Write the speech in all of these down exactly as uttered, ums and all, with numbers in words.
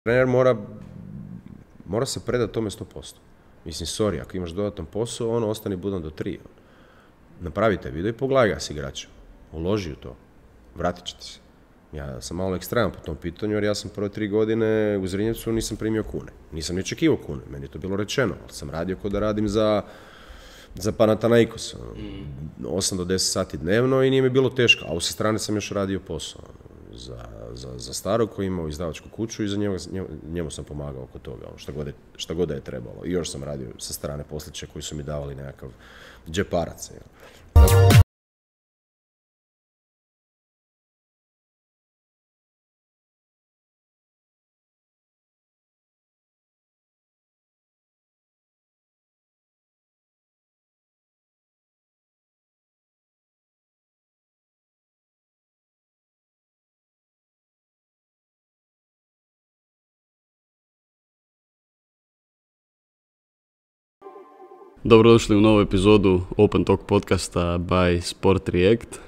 Trener mora, mora se predati tome sto posto. Mislim, sorry, ako imaš dodatan posao, ono, ostani budan do tri. Napravite video i pogledaj ga s igračem. Uloži u to. Vratit ćete se. Ja sam malo ekstreman po tom pitanju, jer ja sam prve tri godine u Zrinjevcu nisam primio kune. Nisam ni očekivao kune, meni je to bilo rečeno, ali sam radio kao da radim za, za Panathinaikos. osam do deset sati dnevno i nije mi bilo teško, a u sa strane sam još radio posao. Za, za, za starog koji imao izdavačku kuću i za njemu, njemu sam pomagao oko toga, ono, šta, god je, šta god da je trebalo. I još sam radio sa strane posliće koji su mi davali nekakav džeparac. Dobrodošli u novu epizodu Open Talk podcasta by Sport React.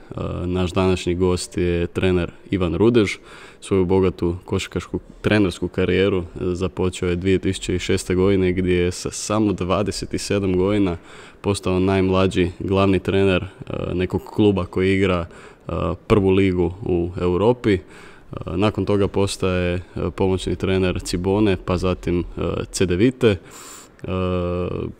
Naš današnji gost je trener Ivan Rudež. Svoju bogatu košarkašku trenersku karijeru započeo je dvije tisuće šeste. godine gdje je sa samo dvadeset sedam godina postao najmlađi glavni trener nekog kluba koji igra prvu ligu u Europi. Nakon toga postaje pomoćni trener Cibone, pa zatim Cedevite. Uh,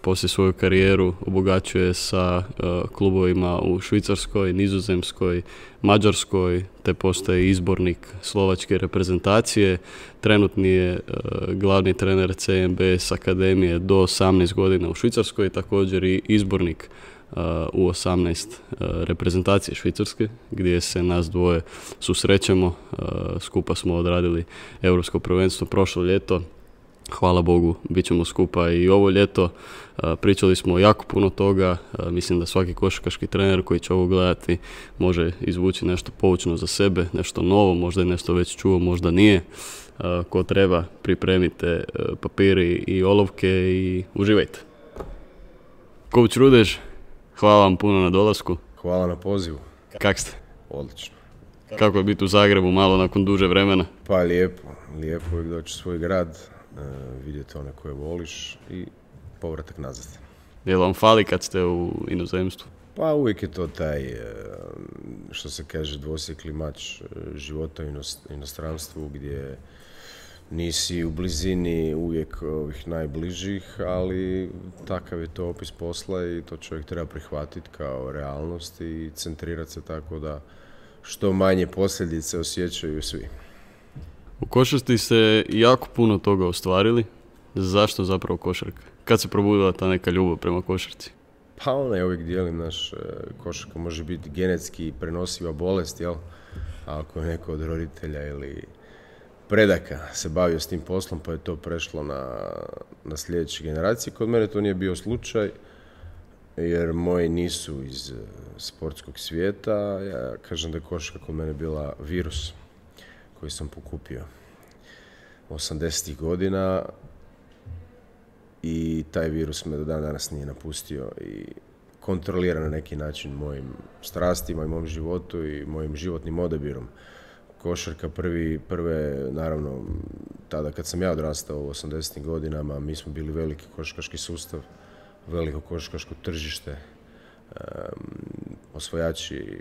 poslije svoju karijeru obogaćuje sa uh, klubovima u Švicarskoj, Nizozemskoj, Mađarskoj, te postaje izbornik slovačke reprezentacije. Trenutni je uh, glavni trener C M B S akademije do osamnaest godina u Švicarskoj, također i izbornik uh, u osamnaest uh, reprezentacije Švicarske, gdje se nas dvoje susrećemo. Uh, skupa smo odradili Europsko prvenstvo prošlo ljeto. Hvala Bogu, bit ćemo skupa i ovo ljeto. Pričali smo jako puno toga. Mislim da svaki košarkaški trener koji će ovo gledati može izvući nešto poučno za sebe, nešto novo, možda je nešto već čuo, možda nije. Ko treba, pripremite papiri i olovke i uživajte. Coach Rudež, hvala vam puno na dolasku. Hvala na pozivu. Kak ste? Odlično. Kako je biti u Zagrebu malo nakon duže vremena? Pa lijepo, lijepo uvijek doći u svoj grad. Uh, vidjeti one koje voliš i povratak nazad. Je li vam fali kad ste u inozemstvu? Pa uvijek je to taj, uh, što se kaže, dvosjekli mač uh, života u inostranstvu gdje nisi u blizini uvijek ovih najbližih, ali takav je to opis posla i to čovjek treba prihvatiti kao realnost i centrirati se tako da što manje posljedice osjećaju svi. U košarci ste jako puno toga ostvarili. Zašto zapravo košarka? Kad se probudila ta neka ljubav prema košarci? Pa ona, ja uvijek dijelim, naš košarka može biti genetski prenosiva bolest, jel? A ako je neko od roditelja ili predaka se bavio s tim poslom, pa je to prešlo na, na sljedeće generacije. Kod mene to nije bio slučaj, jer moji nisu iz sportskog svijeta. Ja kažem da je košarka kod mene bila virus koji sam pokupio osamdesetih godina i taj virus me do dan danas nije napustio i kontrolira na neki način mojim strastima i mojim životu i mojim životnim odabirom. Košarka prvi, prve, naravno, tada kad sam ja odrastao u osamdesetim godinama, mi smo bili veliki košarkaški sustav, veliko košarkaško tržište, um, osvojači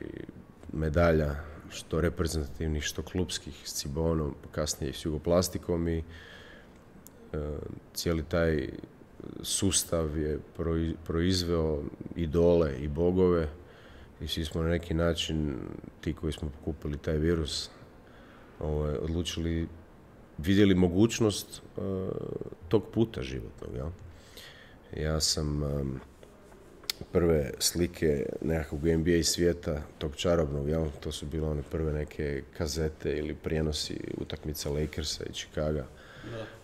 medalja, što reprezentativnih, što klupskih, s Cibonom, kasnije i s Jugoplastikom i e, cijeli taj sustav je proizveo idole i bogove i svi smo na neki način, ti koji smo pokupili taj virus, ovaj, odlučili, vidjeli mogućnost e, tog puta životnog. Ja, ja sam e, prve slike nekakvog N B A svijeta, tog čarobnog, jel? To su bile one prve neke kazete ili prijenosi utakmica Lakersa i Chicaga.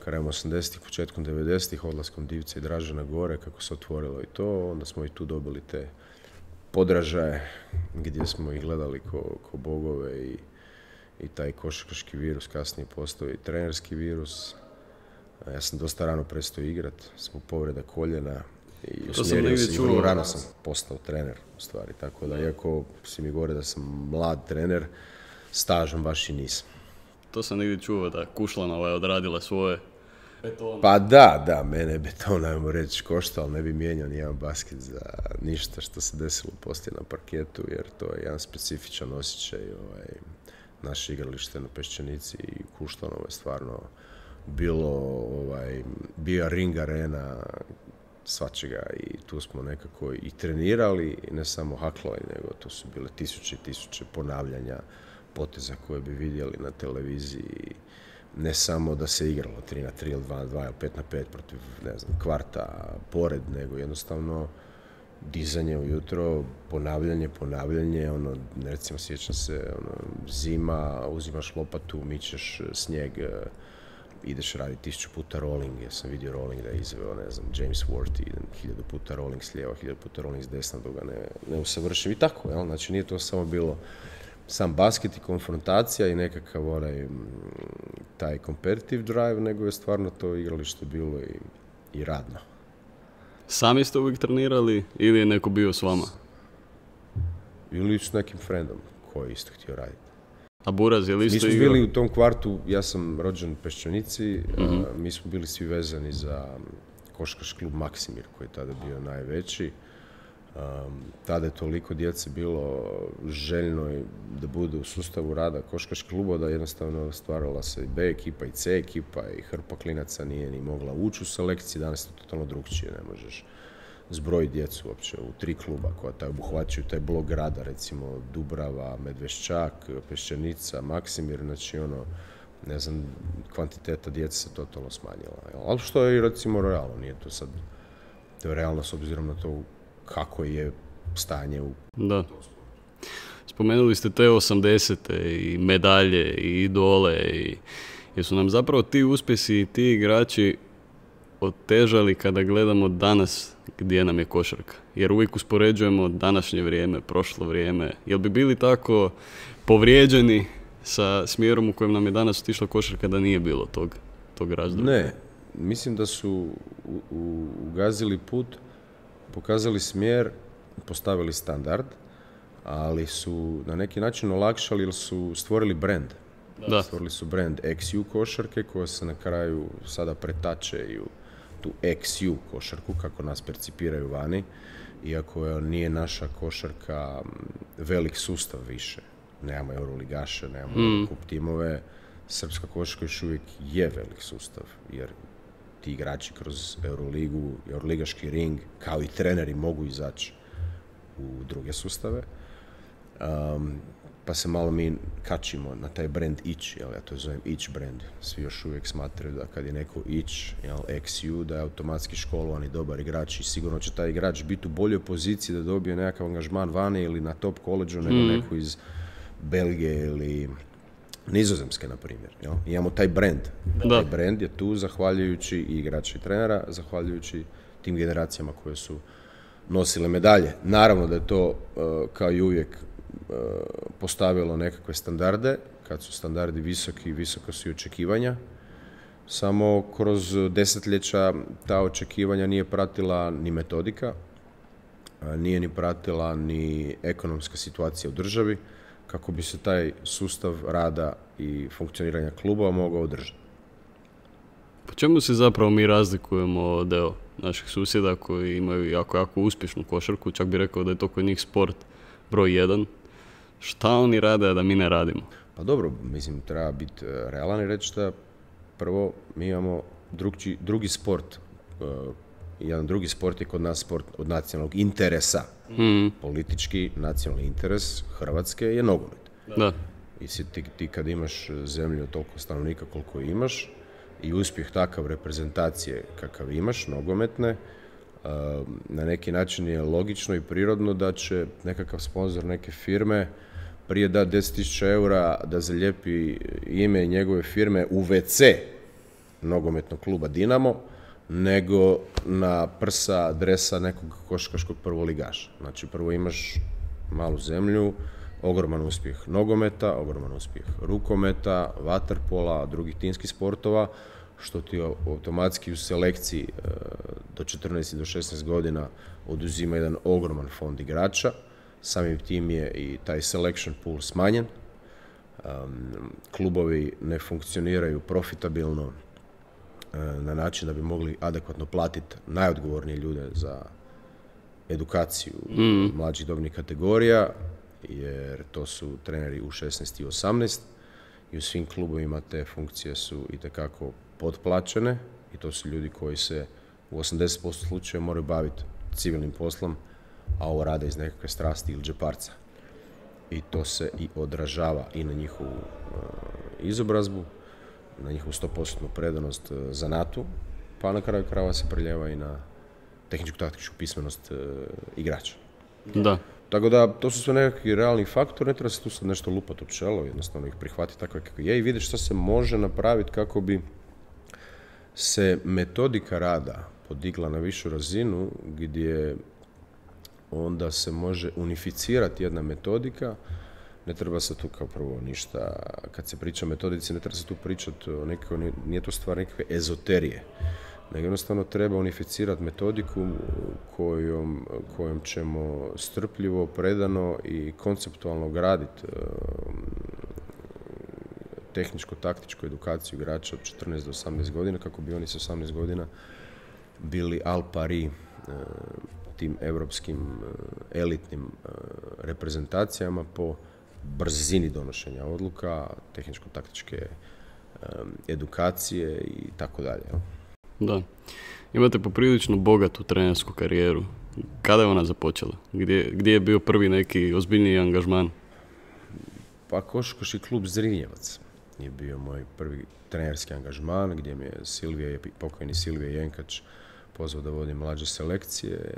Krajem osamdesetih, početkom devedesetih, odlaskom Divca i Dražena gore, kako se otvorilo i to, onda smo i tu dobili te podražaje gdje smo ih gledali ko, ko bogove i, i taj košarkaški virus kasnije postao i trenerski virus. Ja sam dosta rano prestao igrati, zbog povreda koljena. I usmjerio se i vrlo rano sam postao trener, u stvari, tako da, iako si mi govore da sam mlad trener, stažom baš i nisam. to sam negdje čuo da Kušlanova je odradila svoje. Beton. Pa da, da, mene je beton, ajmo reći, košta, ali ne bi mijenjao nijedan basket za ništa što se desilo poslije na parketu, jer to je jedan specifičan osjećaj. Ovaj, naše igralište na Peščanici i Kušlanovo je stvarno bilo, ovaj, bio ring arena svačega i tu smo nekako i trenirali, ne samo haklali, nego tu su bile tisuće i tisuće ponavljanja poteza koje bi vidjeli na televiziji. Ne samo da se igralo tri na tri ili dva na dva ili pet na pet protiv, ne znam, kvarta pored, nego jednostavno dizanje ujutro, ponavljanje, ponavljanje, ono, recimo sjećam se, ono, zima, uzimaš lopatu, mičeš snijeg, ideš raditi tisuću puta rolling, ja sam vidio rolling da je izveo, ne znam, James Worthy, hiljadu puta rolling s lijeva, hiljadu puta rolling s desna, dok ga ne, ne usavršim i tako, jel? Znači nije to samo bilo sam basket i konfrontacija i nekakav onaj, taj competitive drive, nego je stvarno to igralište bilo i, i radno. Sami ste uvijek trenirali ili je neko bio s vama? Ili s nekim friendom koji je isto htio raditi. A Buraz je li isto igrao? Mi smo igrao? bili u tom kvartu, ja sam rođen u Peščanici, Mm-hmm. a, mi smo bili svi vezani za košarkaški klub Maksimir koji je tada bio najveći. Um, tada je toliko djece bilo željno da bude u sustavu rada košarkaškog kluba da jednostavno stvarala se i B ekipa i C ekipa i hrpa klinaca nije ni mogla ući u selekciji, danas je to totalno drugčije, ne možeš zbrojiti djecu uopće u tri kluba koja taj obuhvaćaju taj blok grada, recimo Dubrava, Medveščak, Peščanica, Maksimir, znači ono, ne znam, kvantiteta djece se totalno smanjila. Ali što je i recimo realno, nije to sad, to je realno s obzirom na to kako je stanje u... Da. Spomenuli ste te osamdesete i medalje i idole i jer su nam zapravo ti uspjesi i ti igrači otežali kada gledamo danas gdje nam je košarka. Jer uvijek uspoređujemo današnje vrijeme, prošlo vrijeme. Jel bi bili tako povrijeđeni sa smjerom u kojem nam je danas otišla košarka da nije bilo tog, tog razdoblja? Ne, mislim da su u, u, ugazili put, pokazali smjer, postavili standard, ali su na neki način olakšali jer su stvorili brand. Da. Stvorili su brand X U košarke koja se na kraju sada pretače i u tu X U košarku kako nas percipiraju vani, iako nije naša košarka velik sustav više. Nemamo euroligaše, nemamo mm. kup timove, srpska košarka još uvijek je velik sustav, jer ti igrači kroz Euroligu, Euroligaški ring, kao i treneri mogu izaći u druge sustave. Um, pa se malo mi kačimo na taj brand ići, jel, ja to zovem ići brand. Svi još uvijek smatraju da kad je neko ići, jel, X U, da je automatski školovan i dobar igrač i sigurno će taj igrač biti u boljoj poziciji da dobije nekakav angažman vani ili na top koleđu nego mm. neko iz Belgije ili Nizozemske, na primjer. Jel? Imamo taj brand. Da. Taj brand je tu zahvaljujući i igrača i trenera, zahvaljujući tim generacijama koje su nosile medalje. Naravno da je to, uh, kao i uvijek, uh, postavilo nekakve standarde. Kad su standardi visoki, visoko su i očekivanja. Samo kroz desetljeća ta očekivanja nije pratila ni metodika, uh, nije ni pratila ni ekonomska situacija u državi, kako bi se taj sustav rada i funkcioniranja klubova mogao održati. Po čemu se zapravo mi razlikujemo od evo, naših susjeda koji imaju jako, jako uspješnu košarku, čak bi rekao da je to kod njih sport broj jedan. Šta oni rade, a da mi ne radimo? Pa dobro, mislim, treba biti realan i reći da prvo mi imamo drugi, drugi sport. Uh, jedan drugi sport je kod nas sport od nacionalnog interesa. Mm. Politički nacionalni interes Hrvatske je nogomet. Da. I si ti, ti kad imaš zemlju od toliko stanovnika koliko imaš i uspjeh takav reprezentacije kakav imaš, nogometne, na neki način je logično i prirodno da će nekakav sponzor neke firme prije da deset tisuća eura da zalijepi ime njegove firme u ve ce nogometnog kluba Dinamo, nego na prsa dresa nekog košarkaškog prvoligaša. Znači prvo imaš malu zemlju, ogroman uspjeh nogometa, ogroman uspjeh rukometa, vaterpola, drugih timskih sportova, što ti automatski u selekciji do četrnaest do šesnaest godina oduzima jedan ogroman fond igrača. Samim tim je i taj selection pool smanjen. Um, klubovi ne funkcioniraju profitabilno uh, na način da bi mogli adekvatno platiti najodgovornije ljude za edukaciju mm. mlađih dobnih kategorija, jer to su treneri u šesnaest i osamnaest i u svim klubovima te funkcije su itekako potplaćene i to su ljudi koji se u osamdeset posto slučajeva moraju baviti civilnim poslom, a ovo rade iz nekakve strasti ili džeparca. I to se i odražava i na njihovu uh, izobrazbu, na njihovu sto posto predanost uh, zanatu, pa na kraju krajeva se preljeva i na tehničku-taktičku pismenost uh, igrača. Da. Tako da, to su sve nekakvi realni faktori, ne treba se tu sad nešto lupati u čelo, jednostavno ih prihvatiti takve kako je i vidjeti što se može napraviti kako bi se metodika rada podigla na višu razinu, gdje onda se može unificirati jedna metodika. Ne treba se tu kao prvo ništa, kad se priča o metodici, ne treba se tu pričati o nekako, nije to stvar nekakve ezoterije, nego jednostavno treba unificirati metodiku kojom, kojom ćemo strpljivo, predano i konceptualno graditi tehničko-taktičku edukaciju igrača od četrnaest do osamnaest godina, kako bi oni sa osamnaest godina bili al pari tim europskim elitnim reprezentacijama po brzini donošenja odluka, tehničko-taktičke edukacije i tako dalje. Da. Imate poprilično bogatu trenersku karijeru. Kada je ona započela? Gdje, gdje je bio prvi neki ozbiljniji angažman? Pa košarkaški klub Zrinjevac je bio moj prvi trenerski angažman, gdje mi je Silvije, pokojni Silvije Jenkač pozvao da vodim mlađe selekcije,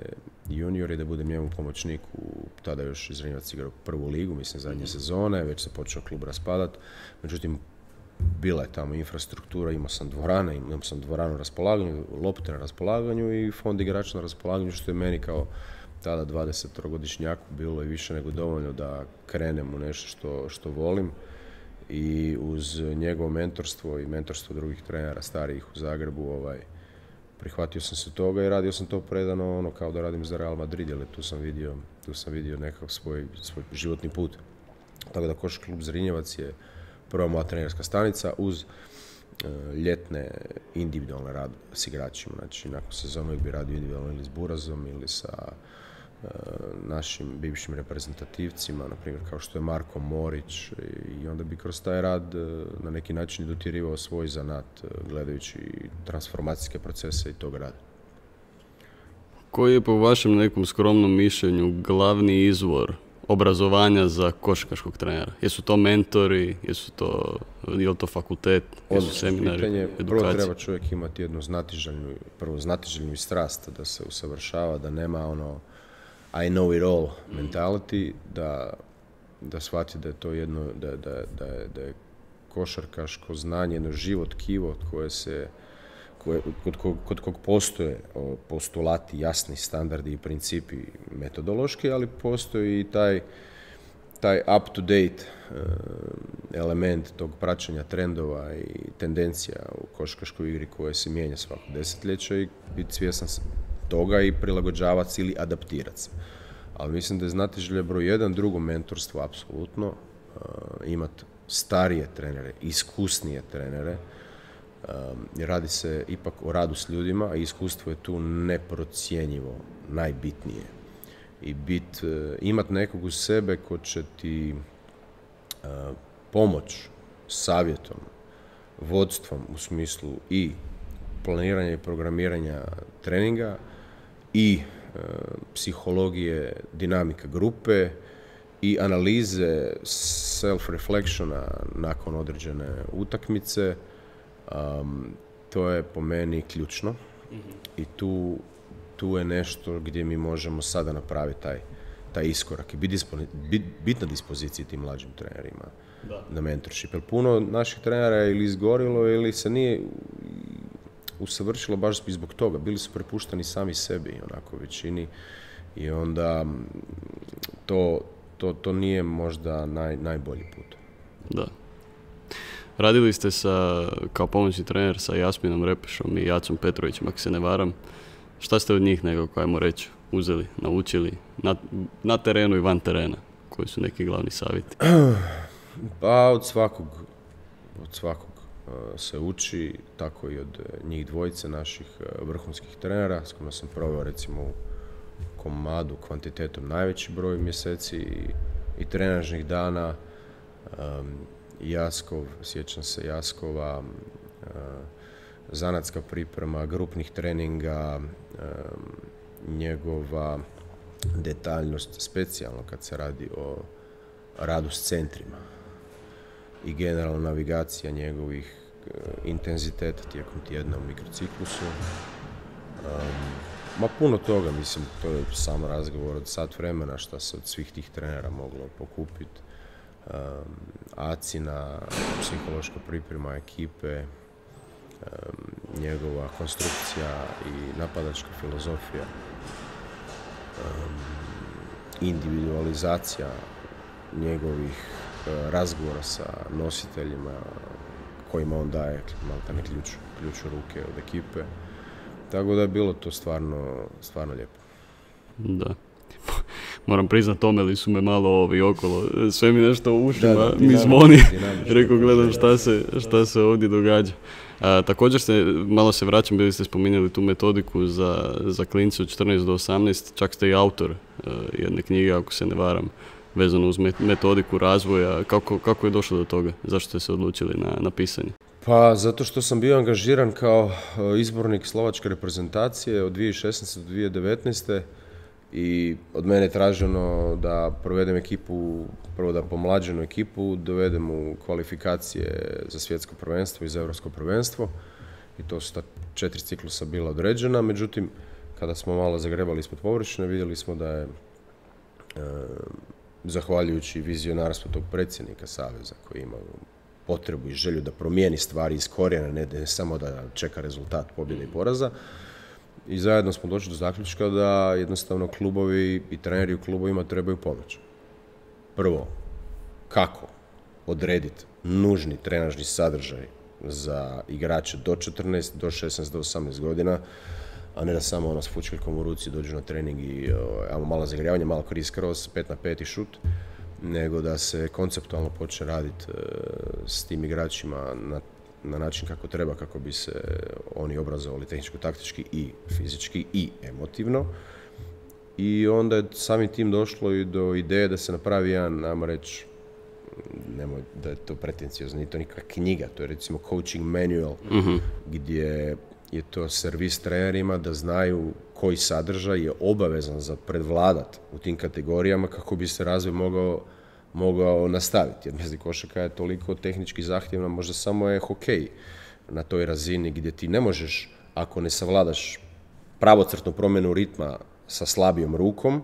juniori, da budem njemu pomoćnik u, tada još Zrinjevac igrao prvu ligu, mislim zadnje sezone, već se počeo klub raspadati. Međutim, bila je tamo infrastruktura, imao sam dvorane, imao sam dvoranu na raspolaganju, lopte na raspolaganju i fond igrača na raspolaganju, što je meni kao tada dvadesetogodišnjaku bilo i više nego dovoljno da krenem u nešto što, što volim. I uz njegovo mentorstvo i mentorstvo drugih trenera starijih u Zagrebu, ovaj, prihvatio sam se toga i radio sam to predano, ono kao da radim za Real Madrid, jer tu sam vidio, tu sam vidio nekakav svoj, svoj životni put. Tako da košarkaški klub Zrinjevac je prva moja trenerska stanica uz uh, ljetne individualne rad s igračima. Znači, nakon sezonu bi radio individualno ili s Burazom ili sa uh, našim bivšim reprezentativcima, na primjer kao što je Marko Morić, i onda bi kroz taj rad uh, na neki način dotjerivao svoj zanat uh, gledajući transformacijske procese i tog rada. Koji je po vašem nekom skromnom mišljenju glavni izvor obrazovanja za košarkaškog trenera? Jesu to mentori, jesu to, je li to fakultet, jesu seminari, pitanje, edukacije? Prvo treba čovjek imati jednu znatiželjnu, prvo znatiželjnu strast, da se usavršava, da nema ono I know it all mentality, da, da shvati da je to jedno, da, da, da, je, da je košarkaško znanje jedno živo tkivo koje se Koje, kod, kod, kod kog postoje postulati, jasni standardi i principi metodološki, ali postoji i taj, taj up-to-date element tog praćenja trendova i tendencija u košarkaškoj igri koje se mijenja svako desetljeće i biti svjestan toga i prilagođavati se ili adaptirati se. Ali mislim da je znatiželja broj jedan, drugo mentorstvo, apsolutno, imati starije trenere, iskusnije trenere. Um, radi se ipak o radu s ljudima, a iskustvo je tu neprocjenjivo, najbitnije. I bit, uh, imat nekog uz sebe ko će ti uh, pomoć savjetom, vodstvom u smislu i planiranja i programiranja treninga i uh, psihologije, dinamika grupe i analize self-reflectiona nakon određene utakmice. Um, to je po meni ključno mm-hmm. i tu, tu je nešto gdje mi možemo sada napraviti taj, taj iskorak i biti disponi, bit, bit na dispoziciji tim mlađim trenerima da. Na mentorship. Jer puno naših trenera je ili izgorilo ili se nije usavršilo baš i zbog toga. Bili su prepušteni sami sebi onako u većini i onda to, to, to nije možda naj, najbolji put. Da. Radili ste sa, kao pomoćni trener sa Jasminom Repešom i Jacom Petrovićem, ako se ne varam. Šta ste od njih nekako, ajmo reći, uzeli, naučili na, na terenu i van terena? Koji su neki glavni savjeti? Pa od svakog, od svakog uh, se uči, tako i od njih dvojice naših uh, vrhunskih trenera s kojima sam proveo recimo u komadu kvantitetom najveći broj mjeseci i, i trenažnih dana. Um, Jaskov, sjećam se Jaskova, uh, zanatska priprema, grupnih treninga, um, njegova detaljnost, specijalno kad se radi o radu s centrima i generalna navigacija njegovih uh, intenziteta tijekom tjedna u mikrociklusu. Um, ma puno toga, mislim, to je samo razgovor od sat vremena što se od svih tih trenera moglo pokupiti. Um, Acina, psihološka priprema ekipe, um, njegova konstrukcija i napadačka filozofija, um, individualizacija njegovih uh, razgovora sa nositeljima kojima on daje maltene ključ, ključ u ruke od ekipe. Tako da je bilo to stvarno, stvarno lijepo. Da. Moram priznat, omeli su me malo ovi okolo. Sve mi nešto u ušima, da, da, mi zvoni. Rekao, da, gledam šta se, šta se ovdje događa. A, također se, malo se vraćam, bili ste spominjali tu metodiku za, za klince od četrnaest do osamnaest, čak ste i autor uh, jedne knjige, ako se ne varam, vezano uz metodiku razvoja. Kako, kako je došlo do toga? Zašto ste se odlučili na, na pisanje? Pa zato što sam bio angažiran kao izbornik slovačke reprezentacije od dvije tisuće šesnaeste do dvije tisuće devetnaeste. I od mene je traženo da provedem ekipu, prvo da pomlađenu ekipu dovedem u kvalifikacije za svjetsko prvenstvo i za europsko prvenstvo. I to su ta četiri ciklusa bila određena. Međutim, kada smo malo zagrebali ispod površine, vidjeli smo da je, e, zahvaljujući vizionarstvu tog predsjednika Saveza koji ima potrebu i želju da promijeni stvari iz korijena, ne, ne samo da čeka rezultat pobjede i poraza. I zajedno smo došli do zaključka da jednostavno klubovi i treneri u klubovima trebaju pomoć. Prvo, kako odrediti nužni trenažni sadržaj za igrače do četrnaest, do šesnaest, do osamnaest godina, a ne da samo ono s fučkeljkom u ruci dođu na trening i o, malo zagrijavanje, malo kriz kroz, pet na pet i šut, nego da se konceptualno počne raditi e, s tim igračima na na način kako treba, kako bi se oni obrazovali tehničko-taktički i fizički i emotivno. I onda je samim tim došlo i do ideje da se napravi jedan, ajmo reći, nemoj da je to pretenciozno, nije to nikakva knjiga, to je recimo coaching manual, mm-hmm. gdje je to servis trenerima da znaju koji sadržaj je obavezan za predvladat u tim kategorijama kako bi se razvoj mogao mogao nastaviti, jer mislim košarka je toliko tehnički zahtjevna, možda samo je hokej na toj razini gdje ti ne možeš, ako ne savladaš pravocrtnu promjenu ritma sa slabijom rukom,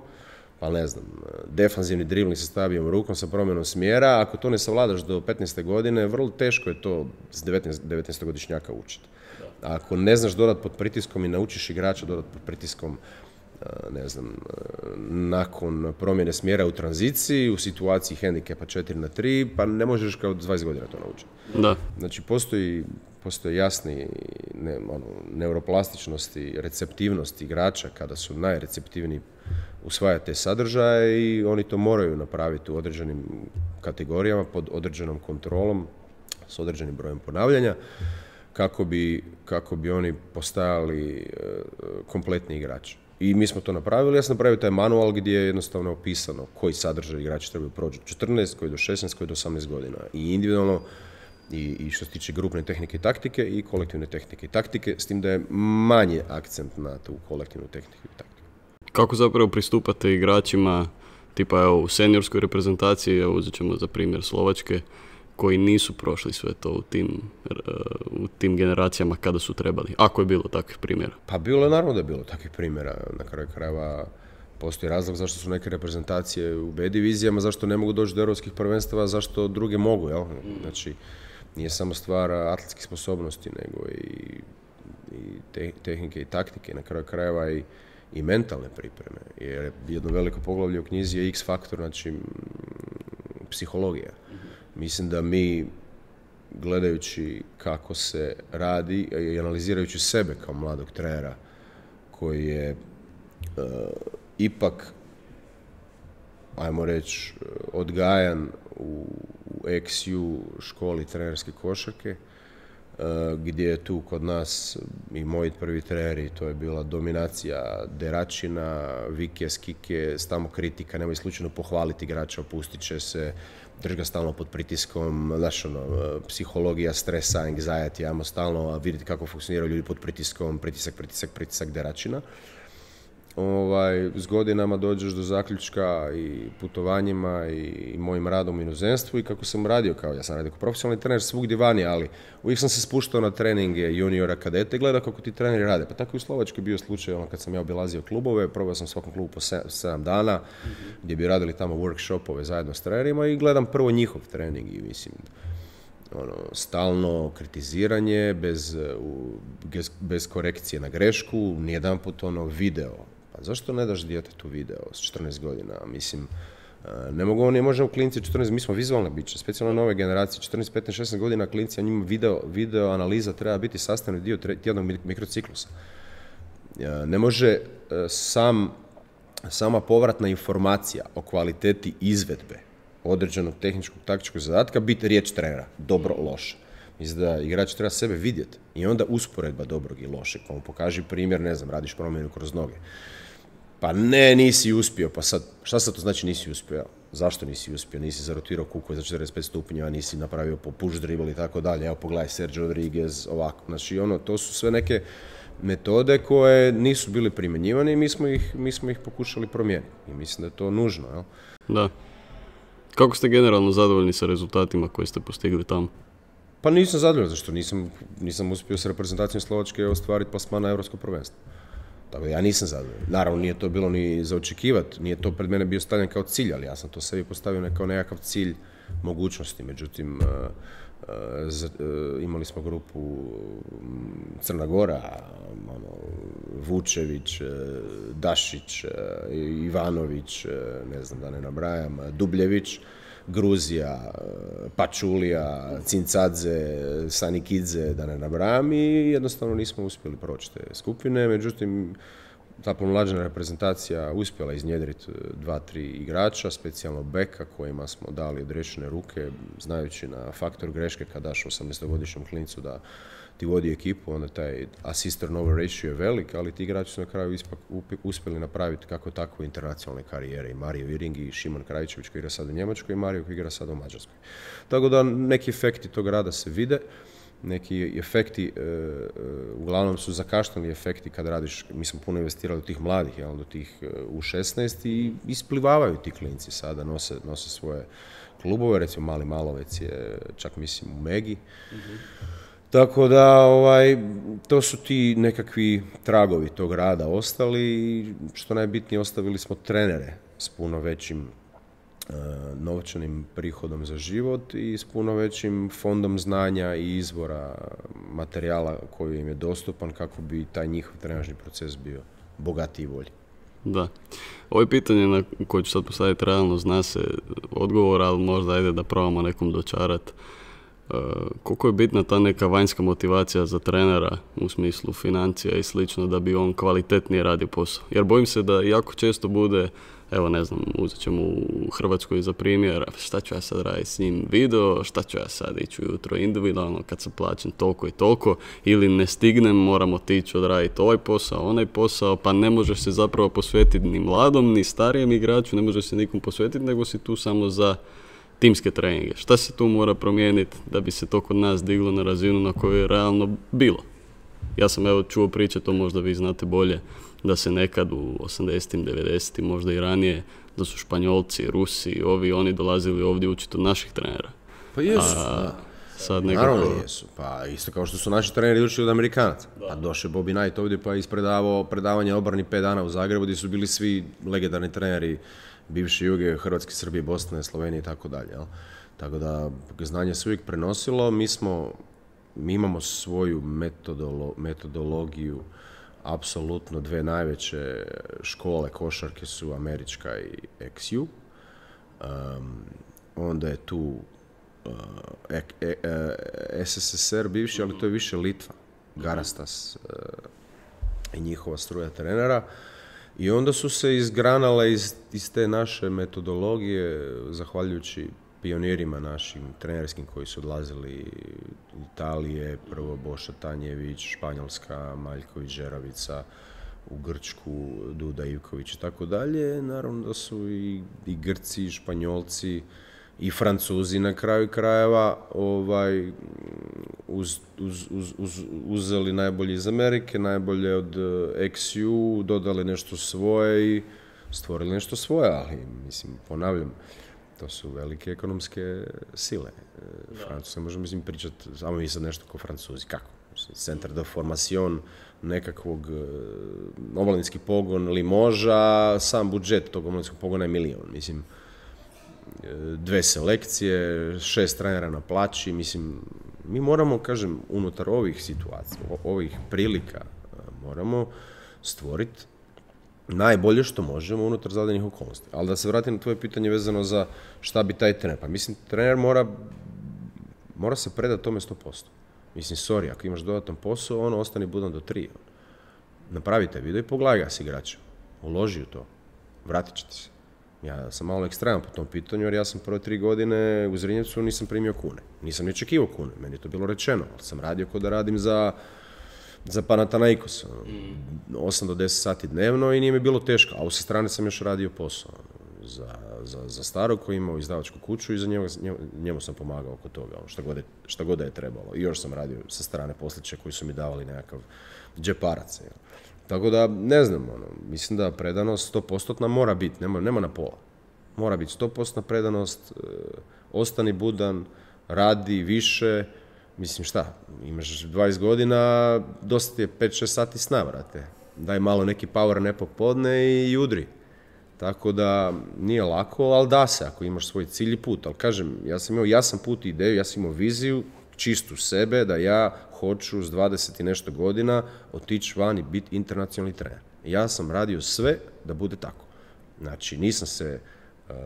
pa ne znam, defanzivni dribling sa slabijom rukom, sa promjenom smjera, ako to ne savladaš do petnaeste godine, vrlo teško je to s devetnaestogodišnjaka učiti. Ako ne znaš dodat pod pritiskom i naučiš igrača dodat pod pritiskom, ne znam, nakon promjene smjera u tranziciji, u situaciji hendikepa četiri na tri, pa ne možeš kao dvadeset godina to naučiti. Da. Znači, postoji, postoji jasni ne, ono, neuroplastičnost i receptivnost igrača kada su najreceptivniji usvajati te sadržaje i oni to moraju napraviti u određenim kategorijama, pod određenom kontrolom, s određenim brojem ponavljanja, kako bi, kako bi oni postajali uh, kompletni igrači. I mi smo to napravili, ja sam napravio taj manual gdje je jednostavno opisano koji sadržaj igrači trebaju proći od četrnaest, koji do šesnaest, koji do osamnaest godina. I individualno, i, i što se tiče grupne tehnike i taktike, i kolektivne tehnike i taktike, s tim da je manje akcent na tu kolektivnu tehniku i taktiku. Kako zapravo pristupate igračima, tipa evo, u seniorskoj reprezentaciji, evo, uzet ćemo za primjer Slovačke, koji nisu prošli sve to u tim, u tim generacijama kada su trebali, ako je bilo takvih primjera? Pa bilo je, naravno da je bilo takvih primjera. Na kraju krajeva postoji razlog zašto su neke reprezentacije u B divizijama, zašto ne mogu doći do europskih prvenstava, zašto druge mogu, jel? Znači, nije samo stvar atletskih sposobnosti, nego i, i te, tehnike i taktike, na kraju krajeva i, i mentalne pripreme. Jer jedno veliko poglavlje u knjizi je X faktor, znači psihologija. Mislim da mi, gledajući kako se radi i analizirajući sebe kao mladog trenera koji je uh, ipak, ajmo reći, odgajan u, u X U školi trenerske košarke, gdje je tu kod nas i moji prvi treneri, to je bila dominacija Deračina, Vike, Skike, stalno kritika, nemoj slučajno pohvaliti igrača, opustit će se, drži ga stalno pod pritiskom, znaš ono, psihologija, stresa, anxiety, ajmo stalno vidjeti kako funkcioniraju ljudi pod pritiskom, pritisak, pritisak, pritisak Deračina. Ovaj, s godinama dođeš do zaključka i putovanjima i, i mojim radom u inozemstvu i kako sam radio, kao ja sam radio kao profesionalni trener svugdje vani, ali uvijek sam se spuštao na treninge juniora, kadete i gledao kako ti treneri rade. Pa tako i u Slovačkoj bio slučaj ono, kad sam ja obilazio klubove, probao sam svakom klubu po sedam dana, mm-hmm. gdje bi radili tamo workshopove zajedno s trenerima i gledam prvo njihov trening i mislim, ono, stalno kritiziranje, bez, bez, bez korekcije na grešku, nijedan put ono video. Pa zašto ne daš djetetu video s četrnaest godina? Mislim, ne mogu, ne možemo klinci četrnaest, mi smo vizualne biće, specijalno nove generacije, četrnaest, petnaest, šesnaest godina klinci, a njima video, video analiza treba biti sastavni dio tjednog mikrociklusa. Ne može sam, sama povratna informacija o kvaliteti izvedbe određenog tehničkog taktičkog zadatka biti riječ trenera, dobro, loše. Mislim da igrač treba sebe vidjeti i onda usporedba dobrog i lošeg, pa mu pokaži primjer, ne znam, radiš promjenu kroz noge. Pa ne, nisi uspio, pa sad, šta sad to znači nisi uspio? Zašto nisi uspio? Nisi zarotirao kuku za četrdeset pet stupnjeva, nisi napravio po push dribble i tako dalje. Evo pogledaj Sergio Rodriguez, ovako. Znači ono, to su sve neke metode koje nisu bili primjenjivane i mi smo ih, mi smo ih pokušali promijeniti. I mislim da je to nužno, jel? Da. Kako ste generalno zadovoljni sa rezultatima koje ste postigli tamo? Pa nisam zadovoljan, zašto nisam, nisam uspio s reprezentacijom Slovačke ostvariti plasman na Europsko prvenstvo. Tako da ja nisam zadovoljan. Naravno, nije to bilo ni za očekivati, nije to pred mene bio stavljen kao cilj, ali ja sam to sebi postavio kao nekakav cilj mogućnosti. Međutim, uh, uh, z, uh, imali smo grupu Crna Gora, ono, Vučević, uh, Dašić, uh, Ivanović, uh, ne znam da ne nabrajam, Dubljević, Gruzija, Pačulija, Cincadze, Sanikidze, da ne nabrajam, i jednostavno nismo uspjeli proći te skupine. Međutim, ta pomlađena reprezentacija uspjela iznjedriti dva, tri igrača, specijalno beka kojima smo dali odriješene ruke, znajući na faktor greške kad daš osamnaestogodišnjem klincu da ti vodi ekipu, onda taj assist turnover ratio je velik, ali ti igrači su na kraju ispak uspjeli napraviti kako takve internacionalne karijere. I Mario Viring i Šimon Krajičević koji igra sad u Njemačkoj i Mario koji igra sad u Mađarskoj. Tako da neki efekti tog rada se vide, neki efekti, e, e, uglavnom su zakašnjeli efekti kad radiš, mi smo puno investirali do tih mladih, jel, do tih e, u šesnaest i isplivavaju ti klinci sada, nose, nose svoje klubove, recimo Mali Malovec je čak mislim u Megi. Mm-hmm. Tako da, ovaj, to su ti nekakvi tragovi tog rada ostali i što najbitnije ostavili smo trenere s puno većim uh, novčanim prihodom za život i s puno većim fondom znanja i izvora materijala koji im je dostupan kako bi taj njihov trenažni proces bio bogatiji i bolji. Da. Ovo je pitanje na koje ću sad postaviti realno, zna se odgovor, ali možda ajde da probamo nekom dočarati. Uh, koliko je bitna ta neka vanjska motivacija za trenera u smislu financija i slično da bi on kvalitetnije radio posao. Jer bojim se da jako često bude, evo ne znam, uzet ćemo u Hrvatskoj za primjer, šta ću ja sad raditi s njim video, šta ću ja sad ići ujutro individualno kad sam plaćen toliko i toliko, ili ne stignem, moramo otići odraditi ovaj posao, onaj posao, pa ne možeš se zapravo posvetiti ni mladom, ni starijem igraču, ne možeš se nikom posvetiti, nego si tu samo za timske treninge. Šta se tu mora promijeniti da bi se to kod nas diglo na razinu na kojoj je realno bilo? Ja sam evo čuo priče, to možda vi znate bolje, da se nekad u osamdesetim, devedesetim, možda i ranije, da su Španjolci, Rusi, ovi, oni dolazili ovdje učiti od naših trenera. Pa jesu, a, sad nekako... Naravno jesu, pa isto kao što su naši treneri učili od Amerikanaca. Da. A došao Bobby Knight ovdje pa ispredavao predavanje obrani pet dana u Zagrebu gdje su bili svi legendarni treneri bivše Juge, Hrvatske, Srbije, Bosne, Slovenije i tako dalje. Tako da znanje se uvijek prenosilo, mi smo, mi imamo svoju metodolo, metodologiju, apsolutno dve najveće škole košarke su američka i X U. Um, onda je tu uh, e, e, e, S S S R bivši, ali to je više Litva, Garastas uh, i njihova struja trenera. I onda su se izgranale iz, iz te naše metodologije, zahvaljujući pionirima našim trenerskim koji su odlazili Italije, prvo Boša Tanjević, Španjolska, Maljković, Žeravica, u Grčku, Duda Ivković i tako dalje. Naravno da su i, i Grci, i Španjolci, i Francuzi na kraju krajeva ovaj, uz, uz, uz, uz, uzeli najbolje iz Amerike, najbolje od X U, dodali nešto svoje i stvorili nešto svoje, ali mislim, ponavljam, to su velike ekonomske sile. Francuska, možemo mislim pričati, samo mi sad nešto kao Francuzi, kako? Centar de formation nekakvog omladinski pogon Limoža, sam budžet tog omladinskog pogona je milion, mislim, dve selekcije, šest trenera na plaći, mislim, mi moramo, kažem, unutar ovih situacija, ovih prilika, moramo stvoriti najbolje što možemo unutar zadanih okolnosti. Ali da se vratim na tvoje pitanje vezano za šta bi taj trener, pa mislim, trener mora, mora se predati tome sto posto. Mislim, sorry, ako imaš dodatan posao, ono, ostani budan do tri. Napravi taj video i pogledaj ga s igračem. Uloži u to. Vratit će ti se. Ja sam malo ekstreman po tom pitanju, jer ja sam prve tri godine u Zrinjevcu nisam primio kune. Nisam ni očekivao kune, meni je to bilo rečeno, ali sam radio kao da radim za, za Panathinaikos. osam do deset sati dnevno i nije mi bilo teško, a u sa strane sam još radio posao. Za, za, za starog koji je imao izdavačku kuću i za njemu, njemu sam pomagao oko toga, šta god, je, šta god da je trebalo. I još sam radio sa strane posliće koji su mi davali nekakav džeparac. Jel. Tako da, ne znam, ono, mislim da predanost sto posto mora biti, nema, nema na pola. Mora biti sto posto predanost, e, ostani budan, radi više, mislim šta, imaš dvadeset godina, dosta ti je pet šest sati sna, vrate. Daj malo neki power nap popodne i udri. Tako da nije lako, ali da se ako imaš svoj cilj i put. Ali kažem, ja sam imao jasan put i ideju, ja sam imao viziju, čistu sebe, da ja hoću s dvadeset i nešto godina otići van i biti internacionalni trener. Ja sam radio sve da bude tako. Znači, nisam se, um,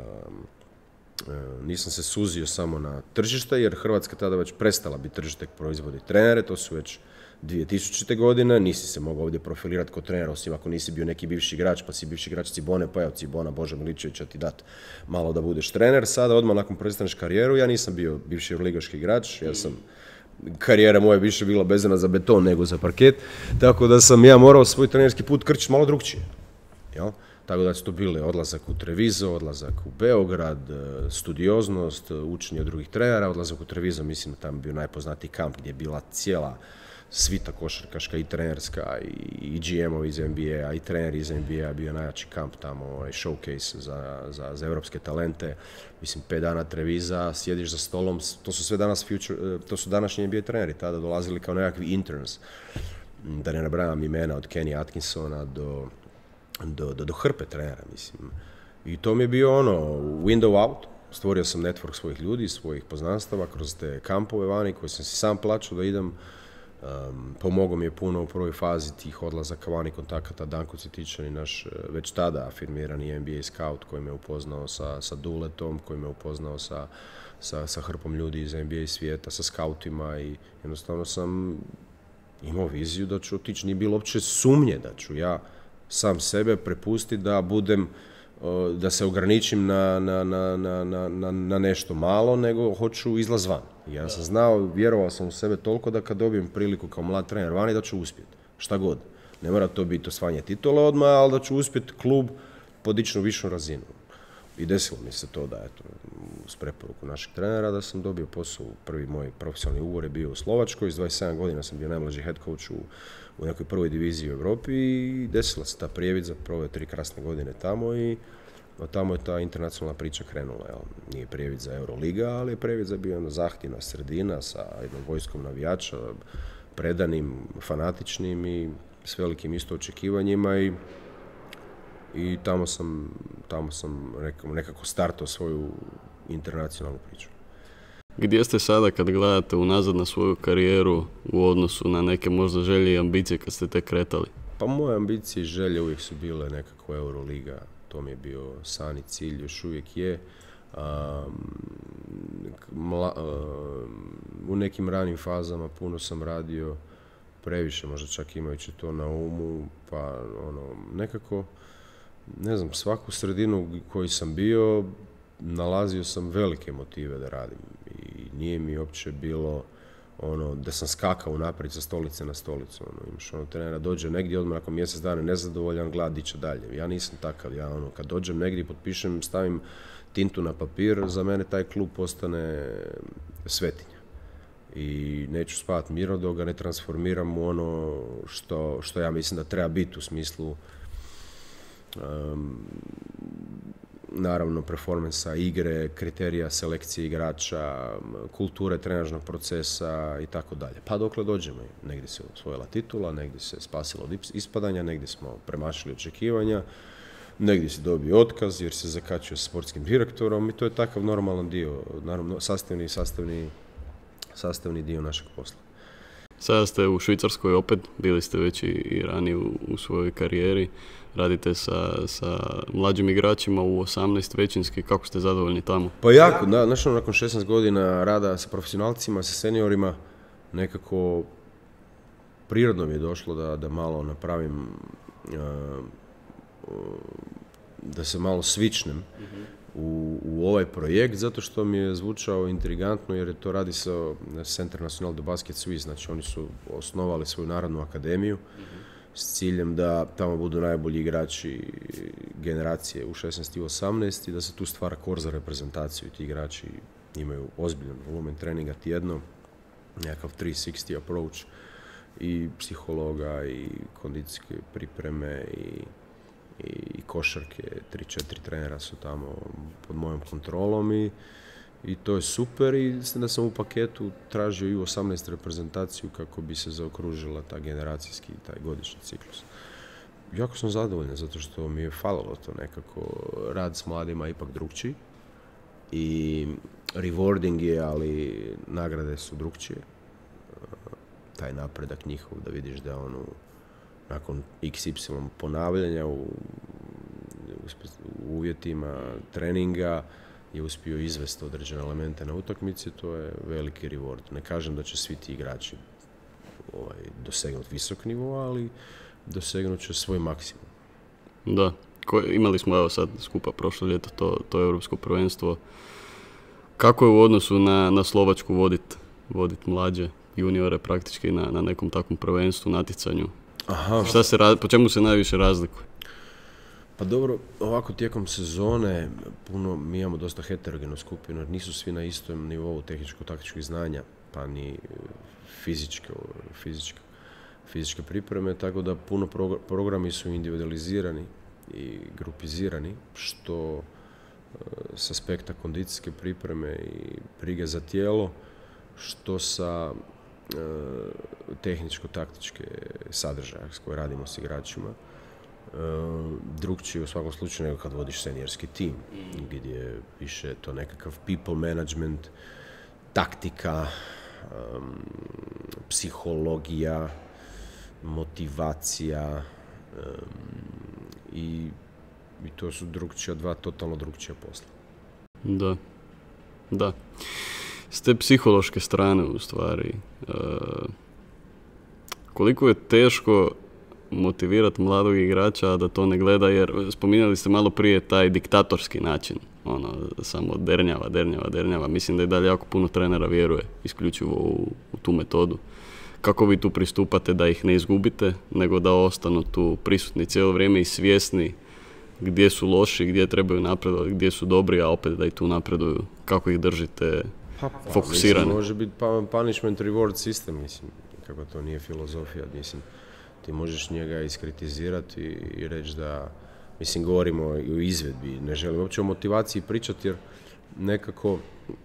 uh, nisam se suzio samo na tržište, jer Hrvatska tada već prestala biti tržište proizvodi trenere, to su već dvije tisućite. godine, nisi se mogao ovdje profilirati kao trener, osim ako nisi bio neki bivši igrač, pa si bivši igrač Cibone, pa evo Cibona, Boža Miličevića ti dat malo da budeš trener. Sada, odmah nakon prestaneš karijeru, ja nisam bio bivši ligaški igrač, ja sam, karijera moja više bila vezana za beton nego za parket, tako da sam ja morao svoj trenerski put krčiti malo drugčije. Jel? Tako da su to bile odlazak u Treviso, odlazak u Beograd, studioznost, učenje od drugih trenera, odlazak u Treviso, mislim da tamo bio najpoznatiji kamp gdje je bila cijela svita košarkaška i trenerska i G M-ovi iz N B A, i treneri iz N B A, bio najjači kamp tamo, ovaj showcase za, za, za evropske talente, mislim pet dana Treviza, sjediš za stolom, to su sve danas future, to su današnji N B A treneri, tada dolazili kao nekakvi interns, da ne nabrajam imena od Kenny Atkinsona do, do, do, do hrpe trenera, mislim. I to mi je bio ono, window out, stvorio sam network svojih ljudi, svojih poznanstava kroz te kampove vani koje sam si sam plaćao da idem. Um, pomogao mi je puno u prvoj fazi tih odlazaka vani kontakata Danko Cvjetičan i naš već tada afirmirani N B A scout koji me upoznao sa, sa Duletom, koji me upoznao sa, sa, sa hrpom ljudi iz N B A svijeta, sa scoutima i jednostavno sam imao viziju da ću otići. Nije bilo uopće sumnje da ću ja sam sebe prepustiti da budem, da se ograničim na, na, na, na, na, na nešto malo, nego hoću izlaz van. Ja sam znao, vjerovao sam u sebe toliko da kad dobijem priliku kao mlad trener vani da ću uspjeti. Šta god. Ne mora to biti osvajanje titule odmah, ali da ću uspjeti klub podići na višu razinu. I desilo mi se to da, eto, uz preporuku našeg trenera, da sam dobio posao. Prvi moj profesionalni ugovor je bio u Slovačkoj, s dvadeset sedam godina sam bio najmlađi head coach u, u nekoj prvoj diviziji u Europi i desila se ta prijevidza, proveo tri krasne godine tamo i od tamo je ta internacionalna priča krenula. Jel. Nije prijevidza Euroliga, ali je prijevidza bio jedna zahtjevna sredina sa jednom vojskom navijača, predanim, fanatičnim i s velikim isto očekivanjima i I tamo sam, tamo sam nekako startao svoju internacionalnu priču. Gdje ste sada kad gledate unazad na svoju karijeru u odnosu na neke možda želje i ambicije kad ste te kretali? Pa moje ambicije i želje uvijek su bile nekako Euroliga. To mi je bio san i cilj, još uvijek je. Um, mla, um, u nekim ranim fazama puno sam radio, previše možda čak imajući to na umu, pa ono, nekako ne znam, svaku sredinu koju sam bio, nalazio sam velike motive da radim i nije mi uopće bilo ono, da sam skakao unaprijed sa stolice na stolicu, ono, imaš ono, trenera dođe negdje, odmah nakon mjesec dana nezadovoljan, gleda di će dalje. Ja nisam takav, ja ono, kad dođem negdje, potpišem, stavim tintu na papir, za mene taj klub postane svetinja. I neću spavati mirno dok ga ne transformiram u ono što, što ja mislim da treba biti u smislu um, naravno performansa igre, kriterija selekcije igrača, kulture trenažnog procesa i tako dalje. Pa dokle dođemo, negdje se osvojila titula, negdje se spasilo od ispadanja, negdje smo premašili očekivanja, negdje se dobio otkaz jer se zakačio s sportskim direktorom i to je takav normalan dio, naravno sastavni, sastavni, sastavni dio našeg posla. Sada ste u Švicarskoj opet, bili ste već i ranije u, u svojoj karijeri, radite sa, sa mlađim igračima u osamnaest većinski, kako ste zadovoljni tamo? Pa jako, da, znači nakon šesnaest godina rada sa profesionalcima, sa seniorima, nekako prirodno mi je došlo da, da malo napravim, uh, da se malo svičnem mm-hmm. u, u ovaj projekt, zato što mi je zvučao intrigantno, jer je to radi sa Centre National de Basket Suisse, znači oni su osnovali svoju narodnu akademiju mm-hmm. s ciljem da tamo budu najbolji igrači generacije u šesnaest i osamnaest i da se tu stvara kor za reprezentaciju. Ti igrači imaju ozbiljan volumen treninga tjedno, nekakav tri šezdeset approach i psihologa i kondicijske pripreme i i košarke, tri četiri trenera su tamo pod mojom kontrolom i, i to je super i da sam u paketu tražio i u osamnaest reprezentaciju kako bi se zaokružila ta generacijski, taj godišnji ciklus. Jako sam zadovoljan zato što mi je falilo to nekako, rad s mladima je ipak drugčiji i rewarding je, ali nagrade su drugčije. Taj napredak njihov da vidiš da ono nakon iks ipsilon ponavljanja u, u uvjetima treninga je uspio izvesti određene elemente na utakmici, to je veliki reward. Ne kažem da će svi ti igrači ovaj, dosegnuti visok nivo, ali dosegnut će svoj maksimum. Da, Ko, imali smo evo sad skupa prošlo ljeto to, to europsko prvenstvo. Kako je u odnosu na, na Slovačku voditi vodit mlađe juniore praktički na, na nekom takvom prvenstvu, natjecanju? Aha. Šta se, po čemu se najviše razlikuje? Pa dobro, ovako tijekom sezone puno, mi imamo dosta heterogenu skupinu, jer nisu svi na istom nivou tehničko-taktičkih znanja, pa ni fizičke, fizičke, fizičke pripreme, tako da puno progr- programi su individualizirani i grupizirani, što s aspekta kondicijske pripreme i brige za tijelo, što sa tehničko-taktičke sadržaje s koje radimo s igračima. Drugčije u svakom slučaju nego kad vodiš seniorski tim, gdje više to nekakav people management, taktika, um, psihologija, motivacija um, i, i to su drugčija, dva totalno drugčija posla. Da, da. S te psihološke strane u stvari, e, koliko je teško motivirati mladog igrača da to ne gleda, jer spominjali ste malo prije taj diktatorski način, ono, samo dernjava, dernjava, dernjava. Mislim da i dalje jako puno trenera vjeruje isključivo u, u tu metodu. Kako vi tu pristupate da ih ne izgubite, nego da ostanu tu prisutni cijelo vrijeme i svjesni gdje su loši, gdje trebaju napredovati, gdje su dobri, a opet da i tu napreduju? Kako ih držite pa, pa, fokusirane? Mislim, može biti punishment reward system, mislim, kako to nije filozofija, mislim. Ti možeš njega iskritizirati i reći da, mislim, govorimo i o izvedbi, ne želim uopće o motivaciji pričati, jer nekako e,